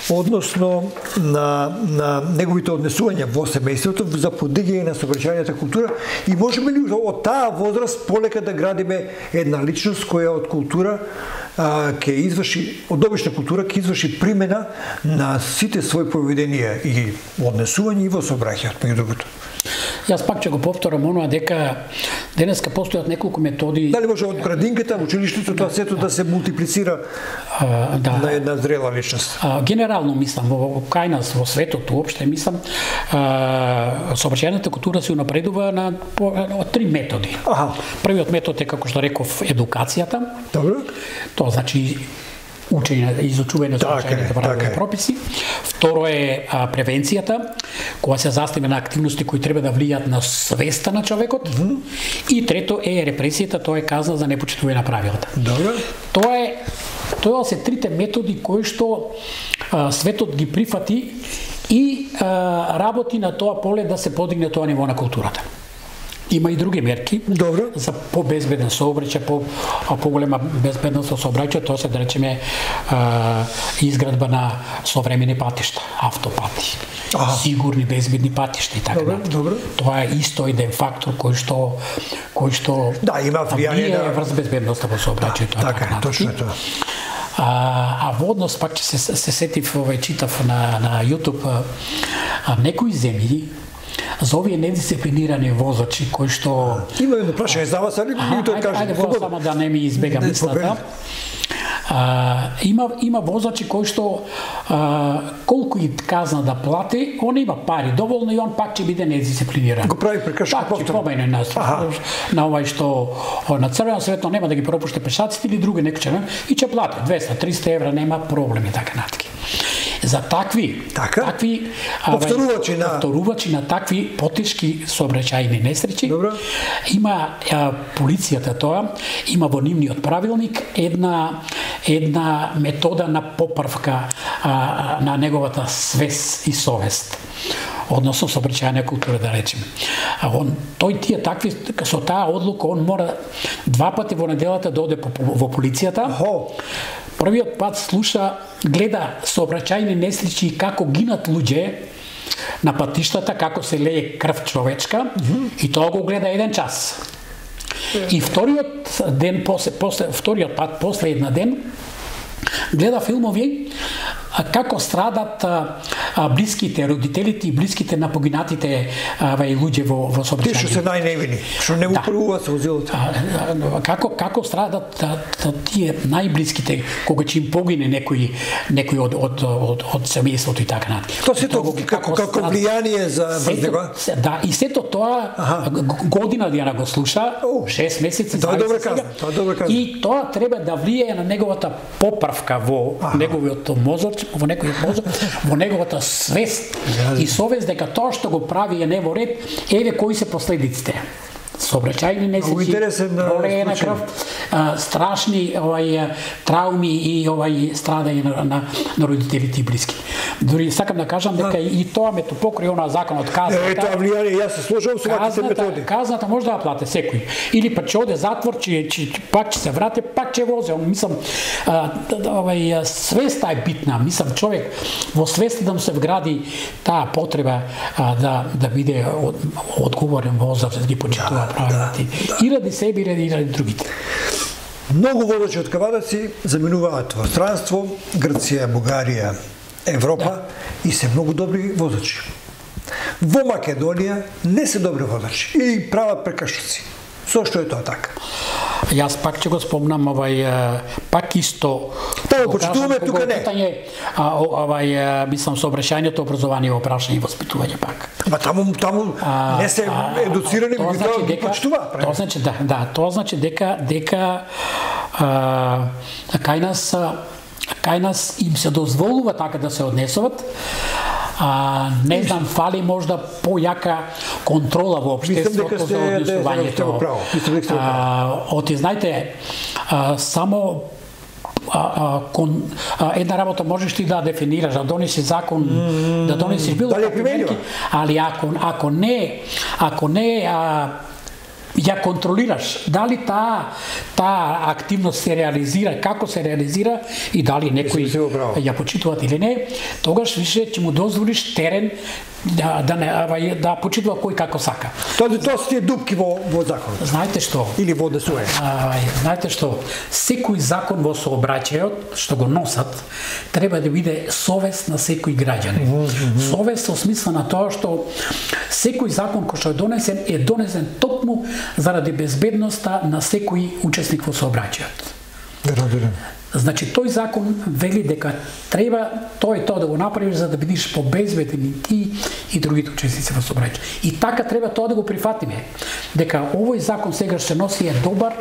односно на на неговите однесувања во семејството за подигање на сообраќајната култура и можеме ли од таа возраст полека да градиме една личност која од култура ќе изврши, од обична култура ќе изврши примена на сите своји поведенија и однесување и во сообраќајот, меѓу другото. Јас пак ќе го повторам оноа дека денеска постојат неколку методи. Дали може од градинката, училиштето, тоа сето да се мултиплицира а, да. на една зрела личност? А, генерално мислам, во кај нас, во светот уопште мислам, сообраќајната култура се унапредува на по, од три методи. Аха. Првиот метод е, како што реков, едукацијата. Добро. Тоа значи учење, изучување на сообраќајните правила и прописи. Второ е а, превенцијата, која се застава на активности кои треба да влијат на свеста на човекот. Mm -hmm. И трето е репресијата, тоа е казна за непочитување на правилата. Добро. Тоа е тоа се трите методи кои што а, светот ги прифати и а, работи на тоа поле да се подигне тоа ниво на културата. Има и други мерки. Добро. За по-безбеден сообраќај, по поголема безбедност со сообраќај, тоа се да речеме а, изградба на современи патишта, автопати, ага. сигурни безбедни патишта и така натаму. Добро. Тоа е исто еден фактор кој што кој што да, има влијание на врз безбедноста во сообраќајот. Да, така е, точно тоа. А, а во однос пак ќе се, се сетив, овој читав на на YouTube а, а, некои земји за овие недисциплинирани возачи кои што има едно прашање за вас, али ми тоа кажете. Ајде, ајде само да не ми избега мислата. А, има има возачи кои што а, колку и казна да плати, он има пари доволно и он пак ќе биде недисциплиниран. Го прави прекршок повторно. Пак ќе помене на на овај што на црвено светло нема да ги пропушти пешаците или други некој и ќе плати двеста триста евра, нема проблеми така натака. За такви, така? такви повторувачи на повторувачи на такви потешки сообраќајни несреќи. Добро. Има а, полицијата тоа, има во нивниот правилник една една метода на поправка а, на неговата свест и совест. Односно сообраќајна култура да речеме. А он тој тие такви со таа одлука он мора два пати во неделата да оде во полицијата. Охо. Првиот пат слуша, гледа сообраќајни несреќи како гинат луѓе на патиштата, како се лее крв човечка, mm -hmm. и тоа го гледа еден час. Yeah. И вториот ден после после вториот пат после една ден гледа филмови а, како страдат а, а, блиските, родителите и блиските на погинатите вај луѓе во во сообраќајните. Тие што се најневини, што не упрувуваат со возилото. Како како страдат та, та, тие најблиските кога ќе им погине некој некој од од од, од семејството и така натаму. Тоа сето како како влијание за него. Да, и сето тоа ага. година дена го слуша, шест месеци. Тоа е добра казна, тоа е добра казна. И тоа треба да влијае на неговата поправка во ага. неговиот мозок, во некој мозок, во неговата свест и совест дека тоа што го прави е не во ред, еве кои се последиците. Сообраќајни несреќи, пролеје на крв, а, страшни овај трауми и овај страдање на, на, на родителите и блиски. Дори сакам да кажам дека и тоа ме то покри онаа законот казната. Е, тоа влијание, јас се сложувам со ваквите методи. Казната може да ја плате секој. Или па ќе оде затвор, ќе, ќе пак ќе се врати, пак ќе возе. Мислам, а, овај свеста е битна. Мислам, човек во свеста да му се вгради таа потреба а, да да биде од, одговорен возраст, да ги почитува правилата. Да, и ради себе, и ради, и ради другите. Многу водачи од кавадаци заминуваат во странство, Грција, Бугарија, Европа, да. И се многу добри водачи. Во Македонија не се добри водачи и прават прекршоци. Зошто е тоа така? Јас пак ќе го спомнам овај пак исто. Тоа почитуваме тука не. Питање, а, овај мислам сообраќајното образование, опрашање и воспитување пак. Ма таму таму а, не се едуцирани, тоа значи дека почитуваат. Тоа значи да, да, тоа значи дека дека а, кај нас кај нас им се дозволува така да се однесуват. А, не знам, фали можда појака контрола во општеството за однесувањето. Оти, знаете, а, само а, а, кон, а, една работа можеш ти да дефинираш, да донеси закон, mm, да донесиш било какви мерки, али ако ако не, ако не а, ја контролираш дали таа таа активност се реализира, како се реализира и дали некои ја почитуваат или не, тогаш више ќе му дозволиш терен да да не да почитува кој како сака. Тоа тоа се тие дупки во во законот. Знаете што? Или во ДСУ. Знаете што? Секој закон во сообраќајот што го носат треба да биде совест на секој граѓанин. Mm -hmm. Совест во смисла на тоа што секој закон кој што е донесен е донесен токму заради безбедноста на секој учесник во сообраќајот. Разбирам. Значи тој закон вели дека треба тоа и тоа да го направиш за да бидеш побезбеден и ти и другите учесници во сообраќајот. И така треба тоа да го прифатиме. Дека овој закон сега се носи е добар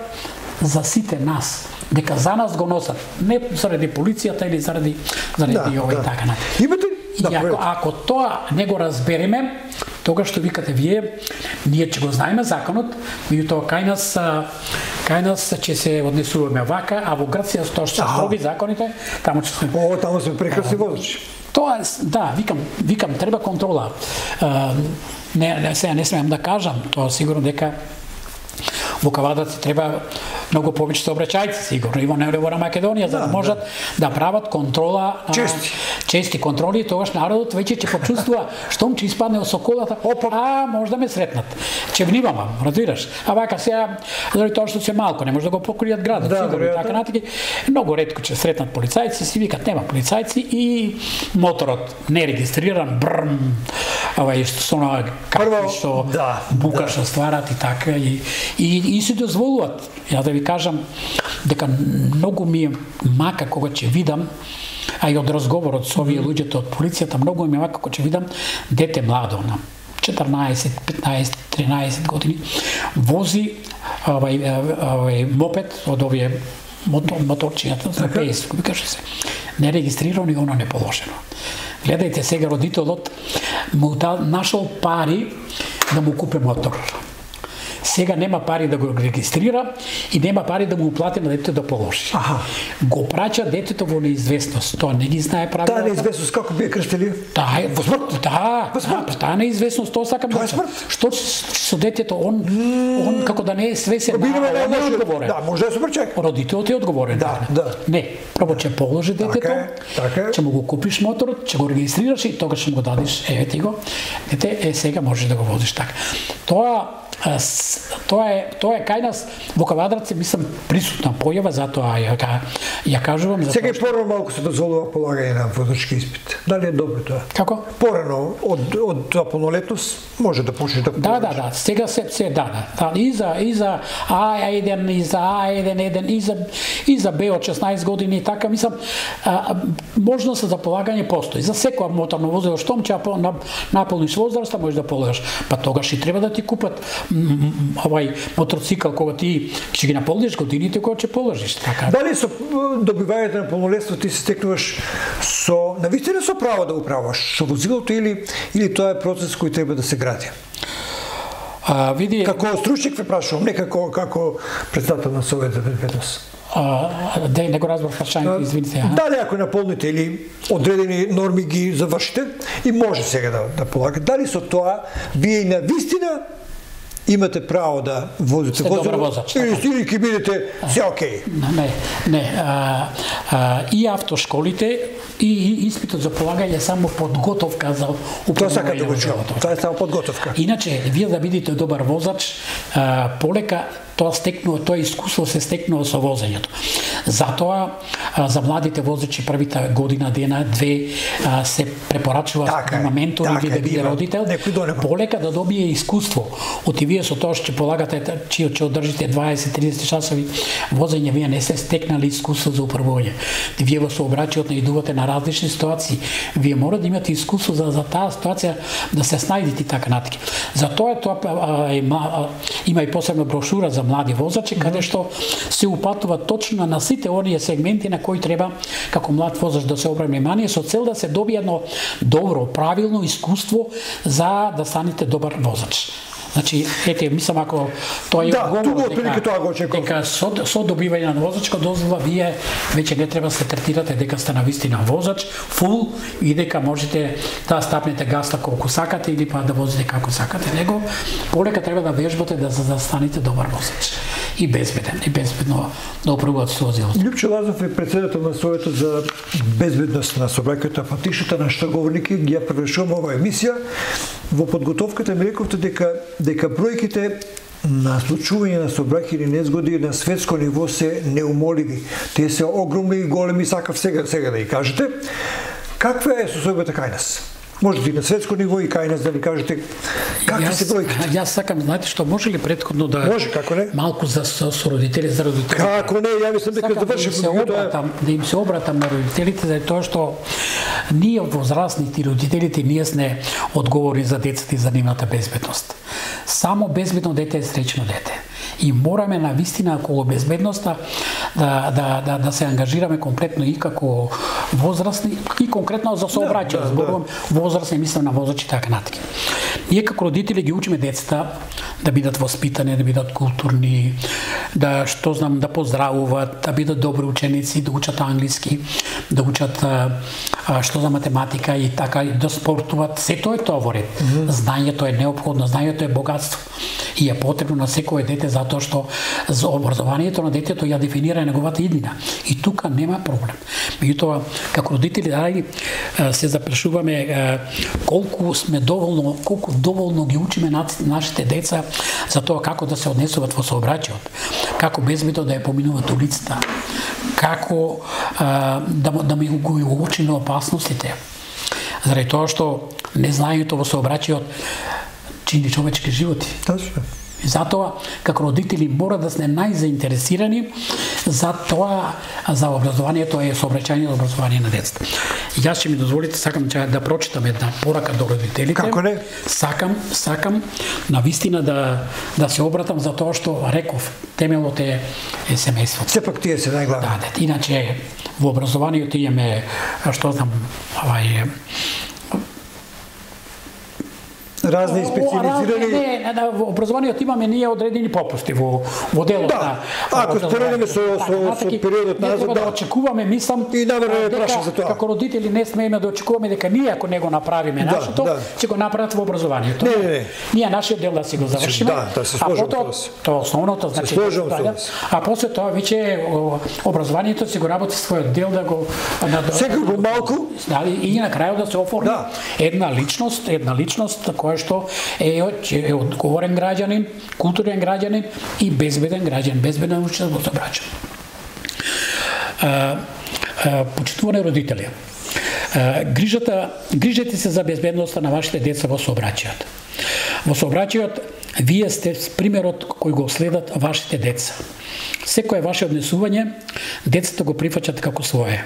за сите нас. Дека за нас го носат, не заради полицијата или заради заради да, овој да. Така на. Имате да, и ако, ако тоа не го разбереме, тогаш што викате вие, ние ќе го знаеме законот, меѓутоа кај нас кај нас ќе се однесуваме вака, а во Грција тоа што строги законите, таму ќе се О, таму се прекрасни возачи. Тоа да, викам, викам треба контрола. А, не, не сега не смеам да кажам, тоа сигурно дека во Кавадарци треба многу повеќе сообраќајци сигурно и во Невра Македонија за да, да можат да. да прават контрола чести чести контроли, тогаш народот веќе ќе почувствува штом ќе испадне од соколата, опа, а може да ме сретнат. Ќе внимавам, разбираш? А вака сега заради тоа што се малку не може да го покријат градот, да, сигурно така натаки. Многу ретко ќе сретнат полицајци, си викат нема полицајци и моторот не регистриран, брм, ова што со на какви што да, бука да. што стварат и така и и и се дозволуваат. Ја да ви кажам дека многу ми е мака кога ќе видам, а и од разговорот со овие луѓето од полицијата, многу ми е мака кога ќе видам дете младо на четрнаесет, петнаесет, тринаесет години вози овај овај мопед од овие мотор моторчињата за пеесет, викаше се. Не регистрирано и оно не положено. Гледајте сега родителот му дал нашол пари да му купи мотор. Сега нема пари да го регистрира и нема пари да му плати на детето да положи. Аха. Го праќа детето во неизвестност. Тоа не ги знае правилата. Таа неизвестност како би ја крстили? Таа е во смрт. Да, во смрт. Таа неизвестност, тоа сакам да кажам. Што со детето он mm. он како да не е свесен, да, он не е одговорен. Да, може да се пречек. Родителот е одговорен. Да, да. Не, прво ќе положи детето, така, ќе му го купиш моторот, ќе го регистрираш и тогаш ќе му го дадеш, еве ти го. Дете, е сега можеш да го возиш така. Тоа Тоа е тоа е кај нас во Кавадарци, мислам, присутна појава, затоа ја ја кажувам за сега порано малку се дозволува полагање на возачки испит. Дали е добро тоа? Како? Порано од од тоа полнолетност може да почнеш да Да, да, да, сега се се да, да. Да, и за и за А еден и за А еден еден и за и за Б од шеснаесет години така, мислам, а, можност за полагање постои. За секоја моторно возило штом ќе на, наполниш возраста можеш да полагаш. Па тогаш и треба да ти купат овај мотоцикл кога ти ќе ги наполниш годините кога ќе положиш, така. Дали со добивањето на полнолетство ти се стекнуваш со навистина со право да управуваш со возилото или или тоа е процес кој треба да се гради? А, види, како стручник ве прашувам, не како како председател на Совет за безбедност. А, да не го разбрав прашањето, извините. Дали ако наполните или одредени норми ги завршите и може сега да да полагате, дали со тоа вие и навистина имате право да возите возило или, или ќе бидете се окей? Не, не. А, а, и автошколите и, и испитот за полагање само подготовка за управување на возилото. Тоа е само подготовка. Иначе, вие да бидете добар возач, а, полека тоа стекнува, тоа искуство се стекнува со возењето. Затоа а, за младите возачи првите година, дена, две а, се препорачува така на ментор или да биде родител, полека да добие искуство. От и вие со тоа што ќе полагате, че ќе одржите дваесет до триесет часови возење, вие не се стекнали искуство за управување. Вие во сообраќајот наидувате на различни ситуации. Вие мора да имате искуство за, за таа ситуација да се снајдете така натаки. Затоа тоа а, има, има и посебна брошура за млади возачи, каде што се упатува точно на сите оние сегменти на кои треба како млад возач да се обрати внимание со цел да се добие едно добро, правилно искуство за да станете добар возач. Значи, ете, мислам ако тоа е да, одговор дека, тоа го дека со, со добивање на возачка дозвола вие веќе не треба да се третирате дека сте навистина возач, фул, и дека можете да стапнете гаста колку сакате или па да возите како сакате, него полека треба да вежбате да за да станете добар возач и безбеден, и безбедно да управувате со возилото. Лјупчо Лазаров е претседател на Советот за безбедност на сообраќајот, па тишата на штрговорники ги ја превршуваме оваа емисија. Во подготовката ми рековте дека дека бројките на случување на сообраќајни незгоди на светско ниво се неумоливи. Тие се огромни и големи, сакав сега сега да ги кажете. Каква е состојбата кај нас? Може и на светско ниво и кај нас да ни кажете какви се бројките? Јас сакам, знаете што, може ли претходно да може, како не? Малку за со, со родители, за родители. Како не, ја мислам дека заврши да, обратам, да им се обратам на родителите за тоа што ние возрастните и родителите ние сме одговорни за децата и за нивната безбедност. Само безбедно дете е среќно дете. И мораме на вистина околу безбедноста да, да, да, да се ангажираме комплетно и како возрастни и конкретно за сообраќај. Да, да, зборувам да. Возрастни, мислам на возачи така натаму. Ние како родители ги учиме децата да бидат воспитани, да бидат културни, да што знам да поздравуваат, да бидат добри ученици, да учат англиски, да учат а, а, што за математика и така и да спортуват. Сето е тоа во ред. Mm-hmm. Знаењето е неопходно, знаењето е богатство и е потребно на секое дете затоа што за образованието на детето ја дефинира неговата иднина. И тука нема проблем. Меѓутоа, како родители, ајде се запрашуваме колку сме доволно, колку доволно ги учиме нашите деца за тоа како да се однесуваат во сообраќајот, како безбедно да ја поминуваат улицата, како а, да, да ми го уочиме опасностите. Заради тоа што незнаењето во сообраќајот чини човечки животи. Точно. И затоа, како родители, мора да сме најзаинтересирани за тоа, за образованието и сообраќајно образование на децата. Јас ќе ми дозволите, сакам да прочитам една порака до родителите. Како не? Сакам, сакам на вистина да да се обратам за тоа што реков, темелот е, е семејството. Сепак тие се најглавни. Да, да, иначе во образованието имаме, што знам, авај разни специализирани. Не, не, во образованието имаме ние одредени попусти во во делот да. на. Ако споредиме со со со периодот назад, да очекуваме, мислам, и навреме прашам за тоа. Како родители не смееме да очекуваме дека ние ако не го направиме нашето, да. ќе го направат во образованието. Не, не, не. Ние нашиот дел да си го завршиме. Да, да се сложиме. А потоа тоа основното, значи, да, а после тоа веќе образованието си го работи својот дел да го да, секој помалку, да, и на крајот да се оформи да. една личност, една личност која што е, е одговорен граѓанин, културен граѓанин и безбеден граѓанин, безбеден учител во сообраќај. Почитувани родители, а, грижата, грижете се за безбедноста на вашите деца во сообраќајот. Во сообраќајот вие сте примерот кој го следат вашите деца. Секое ваше однесување, децата го прифаќат како свое.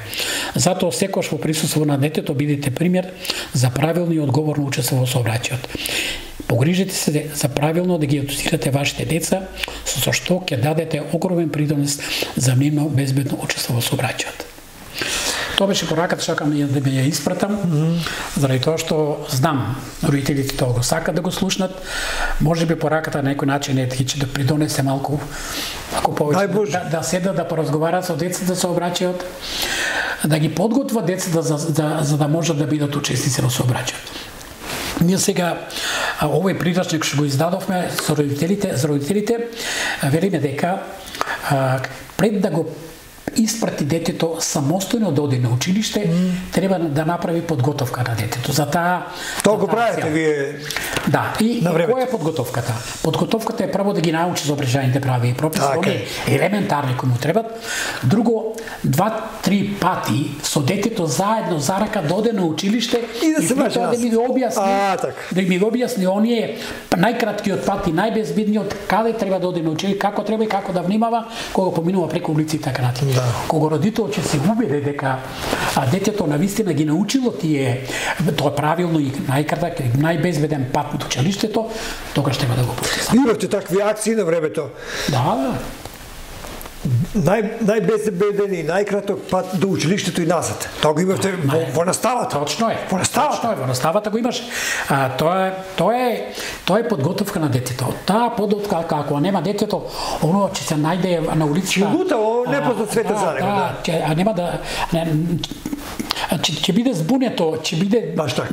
Затоа секогаш во присуство на детето бидете пример за правилно и одговорно учество во сообраќајот. Погрижете се за правилно да ги едуцирате вашите деца, со што ќе дадете огромен придонес за нивно безбедно учество во сообраќајот. Тоа беше пораката, сакам да ми ја испратам, mm -hmm. заради тоа што знам родителите тоа го сакат да го слушнат. Може би пораката на некој начин е ќе да придонесе малку, ако повеќе да, да седат да поразговараат со децата со сообраќајот, да ги подготват децата за, за, за да можат да бидат учесници во сообраќајот. Ние сега овој прирачник што го издадовме со родителите, за родителите, велиме дека а, пред да го испрати детето самостојно да оди на училиште, mm. треба да направи подготовка на детето. За таа Тоа го правите вие. Да, и, и која е подготовката? Подготовката е прво да ги научи за обрежаните прави и прописи, они елементарни кои му требат. Друго, два-три пати со детето заедно за рака да оде на училиште и да се да ми објасни, а, так. да ми објасни оние најкраткиот пат и најбезбедниот каде треба да оде на училиште, како треба и како да внимава кога поминува преку улици и така натаму. Да. Кога родител ќе се убеде дека а, детето навистина ги научило тие тоа правилно и најкратак и најбезбеден пат до училиштето, тогаш треба да го пусти. Имавте такви акции на времето? Да, да. нај најбезбеден и најкраток пат до училиштето и назад. Тоа го имате во, во наставата. Точно е. Во наставата. Точно е, во наставата го имаш. А, тоа е тоа е тоа е подготовка на детето. Таа подготовка ако нема детето, оно ќе се најде на улицата. Ќе лута, о, не позна света да, за него, да. Ќе, а нема да не, ќе, ќе биде збунето, ќе биде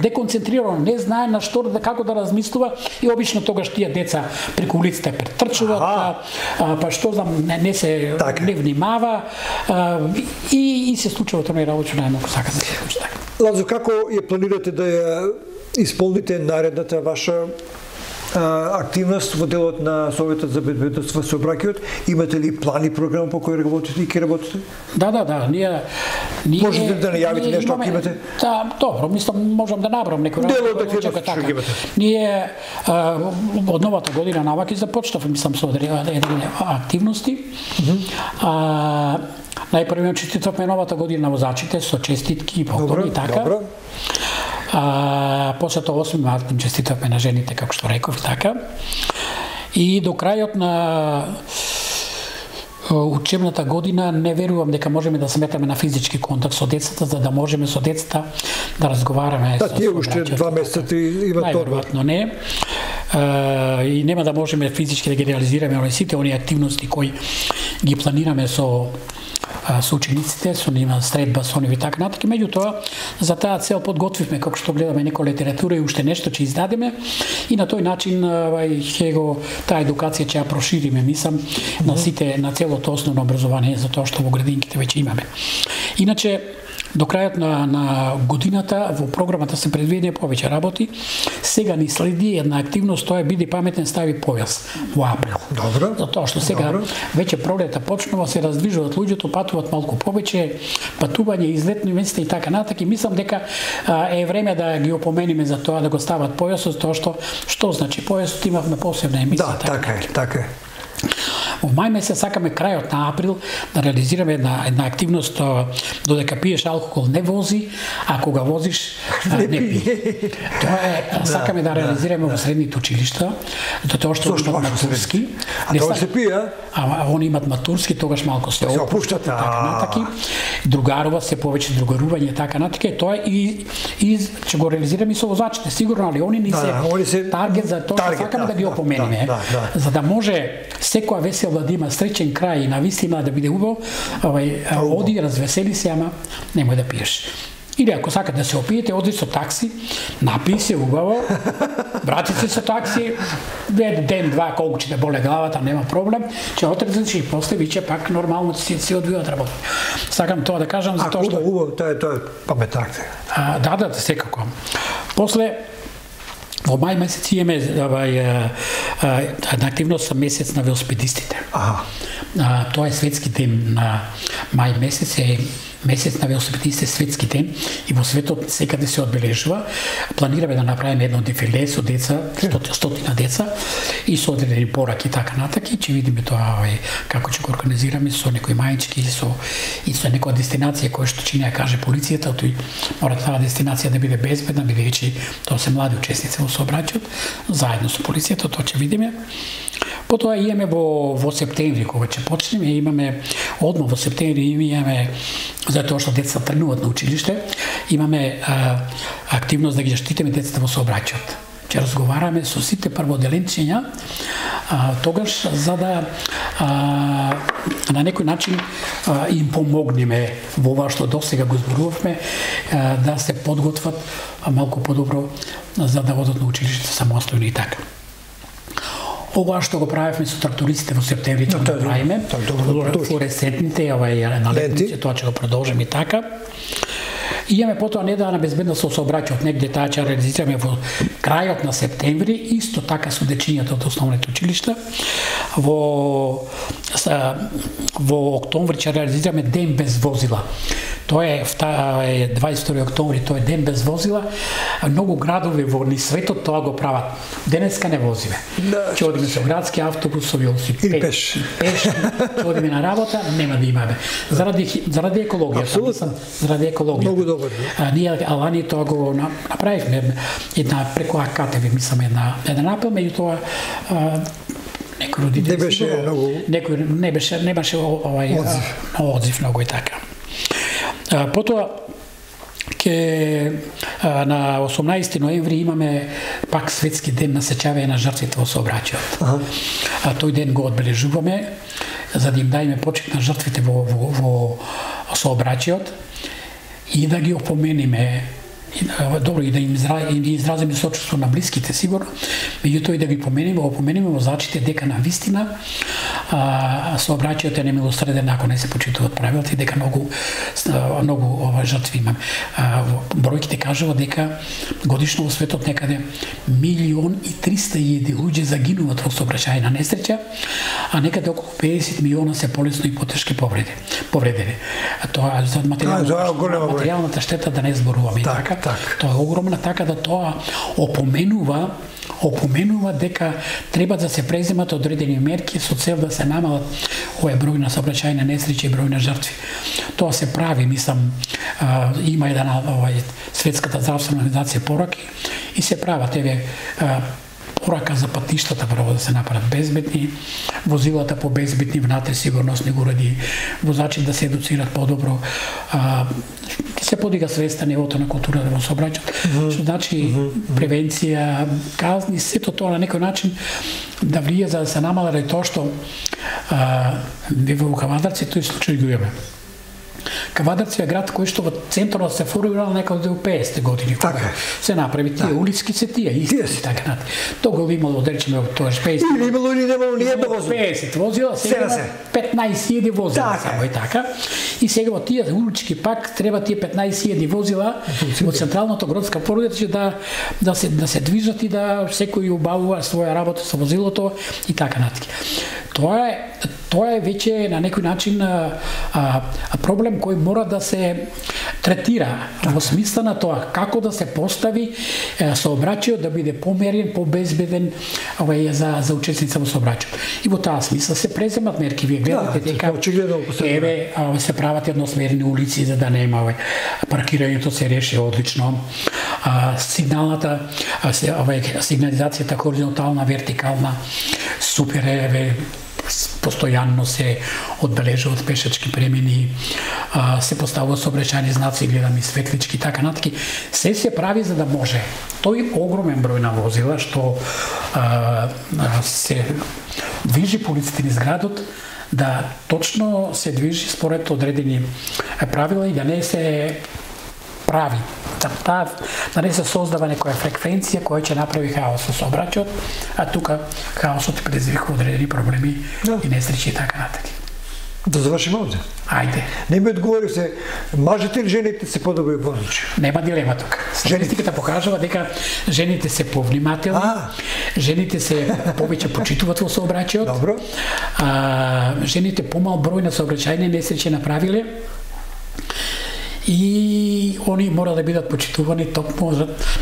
деконцентрирано, не знае на што да како да размислува и обично тогаш тие деца преку улицата претрчуваат, а, а, па што знам, не, не се така. Не внимава а, и, и се случува тоа работа што најмалку сака да се случи така. Лазо, како ја планирате да ја исполните наредната ваша а, активност во делот на Советот за безбедност во сообраќајот? Имате ли план и програма по кој работите и ке работите? Да, да, да, ние ние можете да најавите нешто ако имате? Да, добро, мислам можам да набрам некој делот активност што ги имате. Ние а, од новата година наваки започнавме, мислам со одредени активности. Mm -hmm. А најпрво честитавме новата година на возачите со честитки и поклони и така. Добро. А, после тоа осми март им честитавме на жените, како што реков, така. И до крајот на учебната година не верувам дека можеме да сметаме на физички контакт со децата, за да можеме со децата да разговараме. Да, тие уште два месеца имат тоа. Најверојатно не. Uh, и нема да можеме физички да ги реализираме оне сите оние активности кои ги планираме со со учениците, со нива средба, со нива и така натаму. Меѓутоа, за таа цел подготвивме, како што гледаме некоја литература и уште нешто ќе издадеме и на тој начин ќе го таа едукација ќе ја прошириме, мислам, на сите, на целото основно образование, за тоа што во градинките веќе имаме. Иначе, до крајот на, на годината во програмата се предвидени повеќе работи. Сега ни следи една активност, тоа е биди паметен, стави појас во април. Добро. Затоа што сега Добро. Веќе пролета почнува, се раздвижуваат луѓето, патуваат малку повеќе, патување, излетни места и така натака. И мислам дека а, е време да ги опомениме за тоа да го стават појасот, тоа што што значи појасот, имавме посебна емисија. Да, така, така е, така е. Во мај месец сакаме крајот на април да реализираме една, една активност додека пиеш алкохол не вози, а кога возиш не пи. Тоа е, сакаме да, да реализираме да. Во средните училишта, тоа што имат матурски. А тоа се пие, а они имат матурски, тогаш малку се опуштат така натаки. Другарува се повеќе другарување така натаки. Тоа и и ќе го реализираме и со возачите, сигурно, али они ни се, да, они се таргет за тоа што сакаме да, да ги опомениме, да, да, да. За да може секоја весела да има среќен крај и навистина да биде убаво, овај оди, развесели се, ама немој да пиеш. Или ако сакате да се опиете, оди со такси, напи се убаво, врати се со такси, ден, два, колку ќе те боле главата, нема проблем, ќе отрезеш и после виќе пак нормално си се одвива од работа. Сакам тоа да кажам за тоа што убаво, тоа е тоа паметакте. А, да, да, секако. После во мај месец имаме една активност за месец на велосипедистите. Аха. А, тоа е светски ден на мај месец, е месец на велосипедистите, светски ден и во светот секаде се одбележува. Планираме да направиме едно дефиле со деца, стотина деца и со одредени пораки така натаки, ќе видиме тоа овај како ќе го организираме со некои мајчки и со и со некоја дестинација која што ќе ни ја каже полицијата, тој мора таа дестинација да биде безбедна, бидејќи тоа се млади учесници во сообраќајот, заедно со полицијата, тоа ќе видиме. Потоа имаме во во септември кога ќе почнеме, имаме одма во септември имаме затоа што децата тргнуваат на училиште, имаме а, активност да ги заштитиме децата во сообраќајот. Ќе разговараме со сите прводеленчиња тогаш за да а, на некој начин а, им помогнеме во ова што досега го зборувавме, а, да се подготват малку подобро за да одат на училиште самостојно и така. Ова што го правевме со трактористите во септември, ќе го правиме, флуоресцентните, овај на летници, тоа ќе го продолжиме и така. И имаме потоа недавна безбедност со сообраќајот, негде таа ќе реализираме во крајот на септември, исто така со дечињата од основните училишта. Во во октомври ќе реализираме ден без возила. Тоа е дваесет и втори октомври, тоа е ден без возила. Многу градови во ни светот тоа го прават. Денеска не возиме. Ќе одиме со градски автобус, со велосипед, пеш. Пеш, ќе одиме на работа, нема да имаме. Заради заради екологијата, мислам, заради екологијата. Многу добро. А, ние Алани тоа го направивме една преку АКТВ, мислам една една напел, меѓутоа некои родители не беше сигурно, многу некои не беше немаше овај одзив, одзив многу и така. А, потоа ке а, на осумнаесети ноември имаме пак светски ден на сеќавање на жртвите во сообраќајот. Ага. А тој ден го одбележуваме за да им дајме почит на жртвите во во, во сообраќајот и да ги опомениме, добро и да им изразиме сочувство на блиските сигурно, меѓутоа и да ги помениме, опомениме возачите дека на вистина а, сообраќајот е немилосреден ако не се почитуваат правилата и дека многу многу ова жртви имаме. Бројките кажува дека годишно во светот некаде милион и триста илјади луѓе загинуваат во сообраќајна несреќа, а некаде околу педесет милиона се полесно и потешки повреди. Повредени. Тоа за материјалната, материјалната штета да не зборуваме так, така. Так. Тоа е огромна, така да тоа опоменува опоменува дека треба да се преземат одредени мерки со цел да се намалат овој број на сообраќајни несреќи и број на жртви. Тоа се прави, мислам, а, има една овај Светската здравствена организација пораки и се прават еве порака за патиштата прво да се направат безбедни, возилата по безбедни внатре сигурносни уреди, возачи да се едуцират подобро, а, да се подига свеста нивото на културата во сообраќајот. Mm -hmm. Што значи mm -hmm. превенција, казни, сето тоа на некој начин да влие за да се намалира и тоа што а, во Кавадарци тој случај го имаме. Кавадарци е град кој што во центарот се формирал некаде во педесетте години. Така. Се направи тие улицки се тие исти yes. така нати. Тоа го имало да речеме тоа педесет. Или имало или немало ни едно возило. педесет возила, сега се петнаесет илјади возила така. само и така. И сега во тие улички пак треба тие петнаесет илјади возила во централното градска породица да да се да се движат и да секој убавува своја работа со возилото и така натаму. Тоа е тоа е веќе на некој начин а, а, проблем кој мора да се третира така. Во смисла на тоа како да се постави е, сообраќајот да биде померен, побезбеден овај за за учесница во сообраќајот. И во таа смисла се преземат мерки. Вие гледате да, дека очигледно еве а, се прават едносмерни улици за да нема овај паркирањето се реши одлично. А, сигналната а, се, овај сигнализацијата хоризонтална, вертикална супер еве постојанно се одбележуваат пешачки премини, а, се поставуваат сообраќајни знаци, гледаме светлички, така натаки. Се се прави за да може тој огромен број на возила што а, се движи по улиците низ градот, да точно се движи според одредени правила и да не се прави да, да, да не се создава некоја фреквенција која ќе направи хаос со сообраќајот, а тука хаосот предизвикува одредени проблеми да. И несреќи и така натаму. Да завршиме овде. Ајде. Не ми одговори се, мажите или жените се подобри возачи? Нема дилема тука. Статистиката покажува дека жените се повнимателни, а. Жените се повеќе почитуваат во сообраќајот. Добро. А, жените помал број на сообраќајни несреќи направиле. И они мора да бидат почитувани токму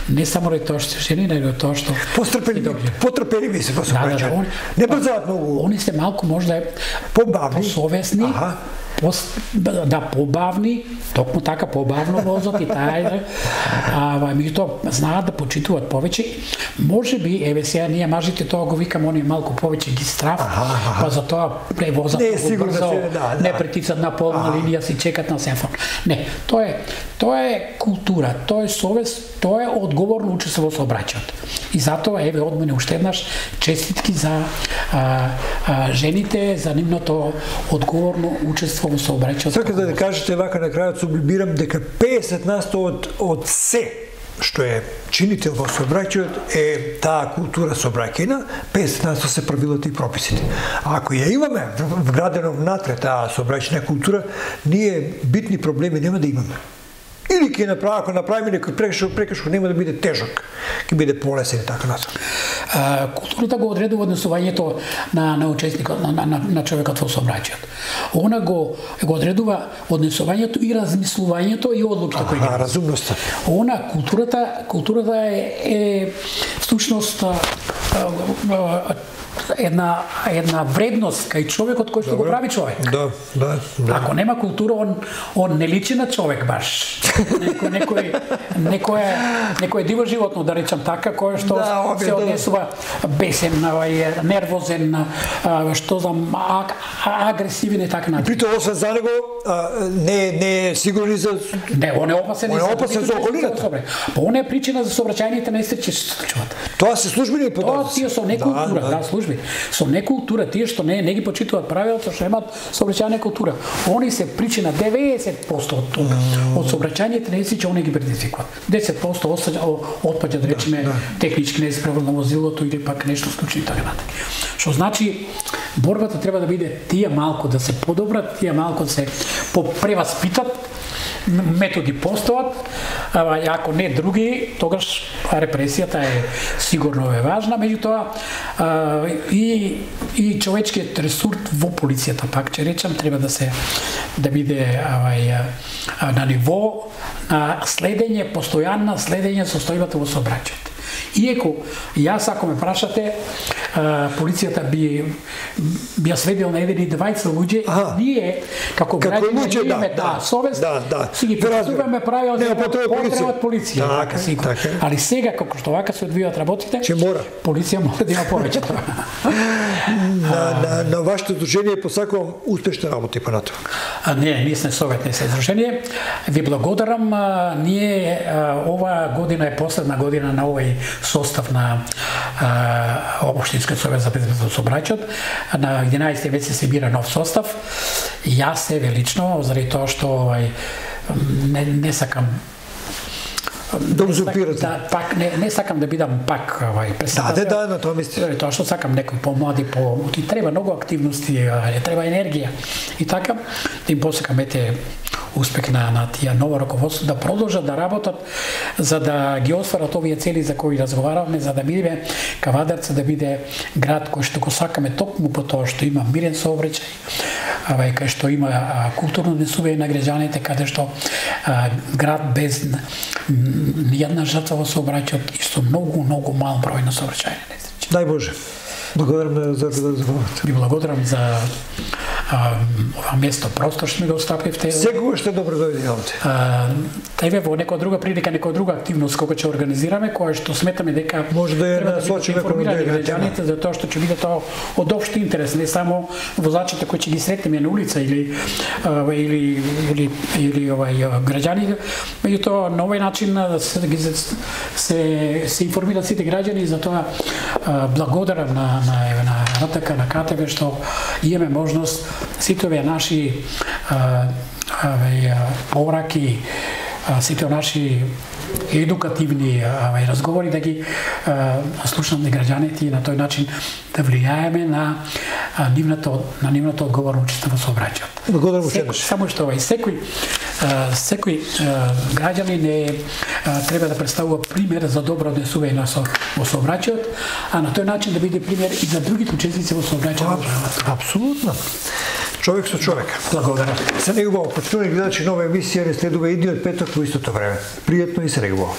не само ради тоа што жени, него тоа што пострпени, потрпени се во сообраќајот. Да, да, не брзаат многу. Они се малку можда побавни, посовесни, пос, да побавни, токму така побавно возат и таа, а меѓутоа знаат да почитуваат повеќе. Можеби еве сега ние мажите тоа го викаме, они малку повеќе ги страф, па за тоа превозат многу брзо, да, не притицат на полна линија, си чекат на семафор. Не, тоа е тоа е култура, тоа е совест, тоа е одговорно учество во сообраќајот. И затоа еве од мене уште еднаш честитки за а, а, жените за нивното одговорно учество во сообраќајот. Сакате да кажете вака на крајот сублимирам дека педесет на сто од од се што е чинител во сообраќајот е таа култура сообраќајна, педесет на сто се правилата и прописите. А ако ја имаме вградено внатре таа сообраќајна култура, ние битни проблеми нема да имаме. Или ќе направи, ако направиме некој прекршок, прекршок нема да биде тежок, ќе биде полесен и така натаму. Културата го одредува однесувањето на на учесникот, на, на, на човекот во сообраќајот. Она го го одредува однесувањето и размислувањето и одлуките кои ги. А, разумноста. Она културата, културата е, е всушност една една вредност кај човекот кој што го прави човек. Да, да, да. Ако нема култура, он он не личи на човек баш. Некој некој некој некој диво животно, да речам така, кој што да, се однесува бесен, нервозен, што знам, агресивен и така натаму. При тоа освен за него не не е сигурен за не, он е опасен он е опасен за околината. Па он е причина за сообраќајните несреќи што се случуваат. Тоа се службени податоци. Тоа тие со некултура, да, да, служби. Со некултура, тие што не не ги почитуваат правилата, што немаат сообраќајна култура. Они се причина деветдесет проценти од тоа. Од сообраќајните несреќи они ги предизвикуваат. десет проценти отпаѓа, да речеме, технички неисправно возилото или пак нешто случи и така натаму. Што значи борбата треба да биде тие малку да се подобрат, тие малку да се попреваспитат, методи постојат, а ако не други, тогаш репресијата е сигурно е важна, меѓутоа и и човечкиот ресурс во полицијата, пак ќе речам, треба да се да биде авај на ниво на следење, постојано следење состојбата во сообраќајот. Иеко јас ако ме прашате, полицијата би би ја сведел на еден и двајца луѓе, ние како граѓани имаме да, совест, да, да. Си ги почитуваме правила за потребат полиција, така сигурно. Али сега како што вака се одвијаат работите, полиција мора да има повеќе тоа. на, на, на вашето дружение посакувам успешна работа и понатаму. А не, ние сме советни се дружение. Ви благодарам, ние ова година е последна година на овој состав на Општинскиот совет за безбедност во сообраќајот. На единаесети веќе се бира нов состав. Јас себе лично, заради тоа што не, не сакам да узурпирате. Да, пак не не сакам да бидам пак овај председател. Да, да, на тоа мислиш. Тоа што сакам некој помлади, по ти треба многу активности, треба енергија. И така да им посакам ете успех на на тие ново раководство да продолжат да работат за да ги остварат овие цели за кои разговаравме, за да биде Кавадарца да биде град кој што го сакаме токму по тоа што има мирен сообраќај, авај кај што има а, културно однесување на граѓаните, каде што а, град без ниједна жртва во сообраќајот и со многу многу мал број на сообраќајни несреќи. Дај Боже. Благодарам за разговорот. Ви благодарам за а, ова место, простор што ми го оставивте. Секогаш сте добро дојде овде. Еве во некоја друга прилика, некоја друга активност кога ќе организираме, која што сметаме дека може да ја насочиме кон граѓаните за тоа што ќе биде тоа од општ интерес, не само возачите кои ќе ги сретнеме на улица или а, или или или овај граѓани, меѓутоа на овој начин се се се информираат сите граѓани, за тоа благодарам на на на РТК, на КТВ што имаме можност сите овие наши пораки, сите наши едукативни авај разговори да ги слушнат на граѓаните и на тој начин да влијаеме на нивната на нивната одговорно учество во сообраќајот. Благодарам уште. Само што овај секој секој граѓанин не треба да представува пример за добро однесување на со во сообраќајот, а на тој начин да биде пример и за другите учесници во сообраќајот. Апсолутно. Човек со човек. Благодарам. Се негово почитувани гледачи, нова емисија не следува идниот петок во истото време. Пријатно и се негово.